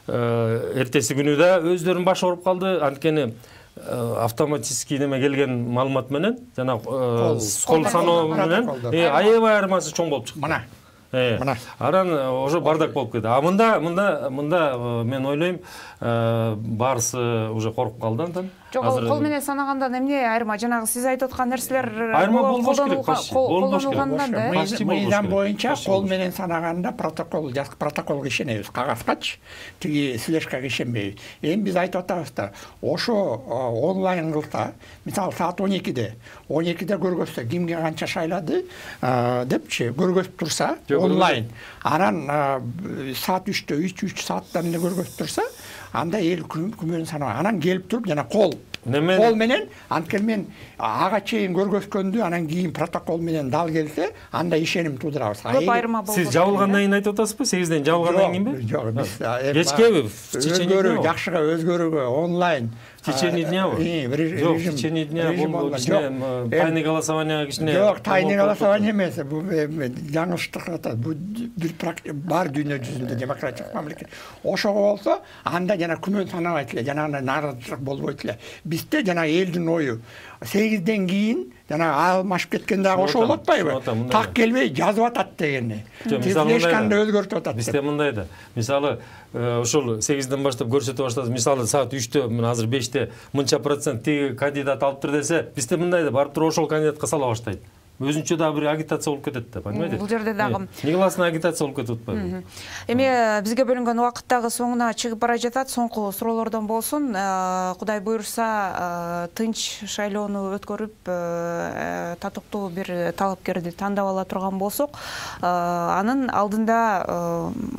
эртеси күнү да өздөрүнүн башы ооруп калды. Анткени автоматический неме келген маалымат менен, жана кол саноо менен аябай айырмасы чоң болуп чыкты. Мына Мына аран уже бардак болуп кетти. А мында мында мында мен ойлойм, баарысы уже коруп калды андан. Жок, кол менен санагандан эмне айырма? Жанагы сиз айтып аткан нерселер айырма болбош керек, колдонулгандан да. Мыйзам боюнча кол менен санаганда протокол, протоколго ишенебиз, кагазгачы, тиги слежкага ишенбейбиз. Эми биз айтып атабыз да, ошо онлайн кылса, мисалы саат он экиде, он экиде көргөзсө, кимге канча шайлады депчи көргөзүп турса, онлайн. Анан саат үчтө, үч сааттан эле көргөзүп турса, анда эл күмөнүн санабайт. Анан келип туруп жана кол кол менен, анткени мен ага чейин көргөзгөндү анан кийин протокол менен дал келсе, анда ишеним туудурабыз. Көп айырма болот. Сиз жабылгандан кийин айтып атасызбы? сегизден жабылгандан кийинби? Жок, биз кечкеби? Өзгөрүү, жакшыга өзгөрүүгө онлайн. В течение дня? Жок, в течение дня бул кичине тайный голосование кичине. Жок, тайный голосование эмес, бул жаңылыштык атат. Бул бир бар дүйнө жүзүндө демократиялык мамлекет. Ошого болсо, анда жана күмөн санабайт эле, жана нааразычылык болбойт эле. Бизде жана элдин ою сегизден кийин жана алмашып кеткен дагы ошо болуп атпайбы? Так келбей жазып атат дегени. Тезлешканды өзгөртүп атат. Бизде мындай да. Мисалы, ошол сегизден баштап көрсөтө баштады. Мисалы саат үчтө, мен азыр беште мынча процент тиги кандидат алыптыр десе, бизде мындай да, барып туруп ошол кандидатка сала баштайт. Өзүнчө дагы бир агитация болуп кетет да, понимаете? Бул жерде дагы негласный агитация болуп кетип атпайбы? Эми бизге бөлүнгөн убакыт дагы соңуна чыгып бара жатат. Соңку суроолордон болсун. Кудай буйрса, тынч шайлоону өткөрүп, татыктуу бир талапкерди тандап ала турган болсок, анын алдында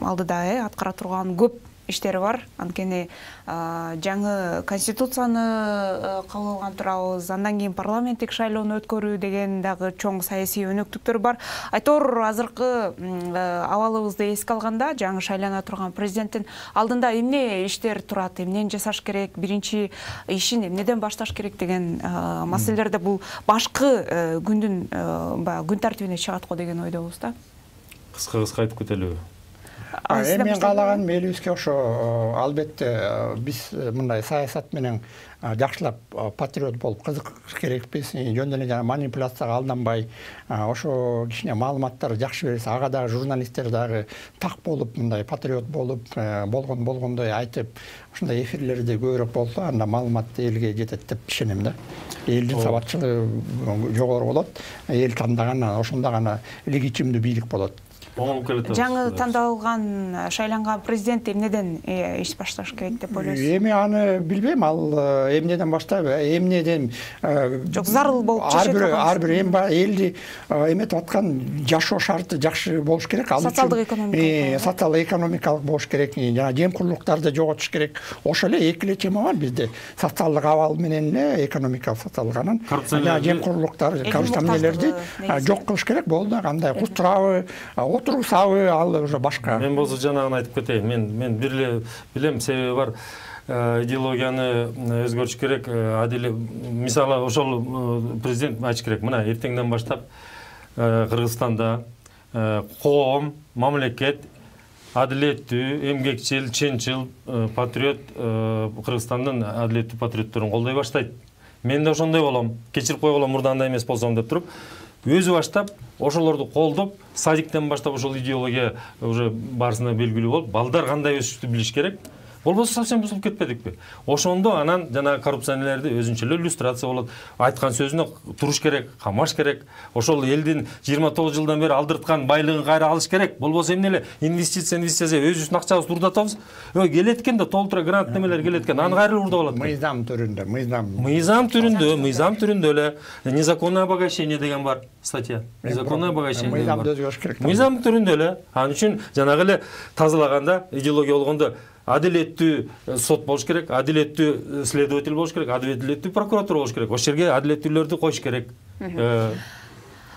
алдыда аткара турган көп иштери бар. Анткени жаңы конституцияны кабыл алган турабыз, андан кийин парламенттик шайлоону өткөрүү деген дагы чоң саясий өнөктүктөр бар. Айтор азыркы абалыбызды эске алганда, жаңы шайлана турган президенттин алдында эмне иштер турат, эмнени жасаш керек, биринчи ишин эмнеден башташ керек деген маселелерде бул башкы күндүн күн тартибине чыгат го деген ойдобуз да. Кыска-кыска айтып кетелиби? Эми мен каалаган элибизге ошо албетте биз мындай саясат менен жакшылап патриот болуп кызыкыш керекпиз. Жөн эле жана манипуляцияга алданбай, ошо кичине маалыматтар жакшы берсе, ага дагы журналисттер дагы так болуп, мындай патриот болуп, болгон болгондой айтып, ушундай эфирлерде көбүрөөк болсо, анда маалымат элге жетет деп ишенем да. Элдин сабатчылыгы жогору болот, эл тандаган ошондо гана легитимдүү бийлик болот. Жаңы тандалган, шайланган президент эмнеден иш башташ керек деп ойлойсуз? Эми аны билбейм, ал эмнеден баштайбы, эмнеден жок зарыл болуп чечет. Ар бир эм элди эметип аткан жашоо шарты жакшы болуш керек. Ал социалдык экономикалык, социалдык экономикалык болуш керек, жана жемкурлуктарды жоготуш керек. Ошо эле эки эле тема бар бизде. Социалдык абал менен эле экономикалык социалдык, анан жемкурлуктар, коррупцияларды жок кылыш керек. Болду, кандай кустурабы, отурусабы, ал уже башка. Мен болсо жанагын айтып кетейин. Мен мен бир эле билем, себеби бар. Идеологияны өзгөртүш керек. Адил, мисалы, ошол президент айтыш керек. Мына эртеңден баштап Кыргызстанда коом, мамлекет адилеттүү, эмгекчил, чынчыл, патриот Кыргызстандын адилеттүү патриотторун колдой баштайт. Мен да ошондой болом. Кечирип койгула мурдандай эмес болсом деп туруп, өзү баштап ошолорду колдоп, садиктен баштап ошол идеология уже барысына белгилүү болуп, балдар кандай өсүштү билиш керек. болбосо совсем бузулуп кетпедикпи? Ошондо анан жана коррупционерлерди өзүнчө эле иллюстрация болот. Айткан сөзүнө туруш керек, камаш керек. Ошол элдин жыйырма тогуз жылдан бери алдырткан байлыгын кайра алыш керек. Болбосо эмне эле инвестиция, инвестиция өзүбүздүн акчабызды урдатабыз. Ой, келет экен да толтура грант немелер келет экен. Аны кайра урдап алат. Мыйзам түрүндө, мыйзам. Мыйзам түрүндө, мыйзам түрүндө эле незаконное обогащение деген бар статья. Незаконное обогащение. Мыйзамды өзгөртүш керек. Мыйзам түрүндө эле. Анын үчүн жанагы эле тазалаганда идеология болгондо адилеттүү сот болуш керек, адилеттүү следователь болуш керек, адилеттүү прокуратура болуш керек. Ошол жерге адилеттүүлөрдү коюш керек.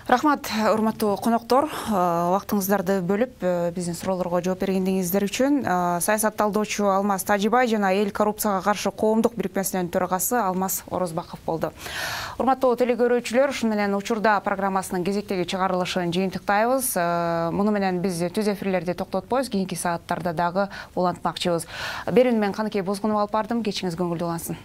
Рахмат, урматтуу коноктор, убактыңыздарды бөлүп биздин суроолорго жооп бергениңиздер үчүн. Саясат талдоочу Алмаз Тажибай жана эл коррупцияга каршы коомдук бирикмесинин төрагасы Алмаз Орозбаков болду. Урматтуу телекөрүүчүлөр, ушун менен учурда программасынын кезектеги чыгарылышын жыйынтыктайбыз. Муну менен биз түз эфирлерди токтотпойбуз, кийинки сааттарда дагы улантмакчыбыз. Берүүнү мен Каныкей Бозгунова алып бардым. Кечиңиз көңүлдүү улансын.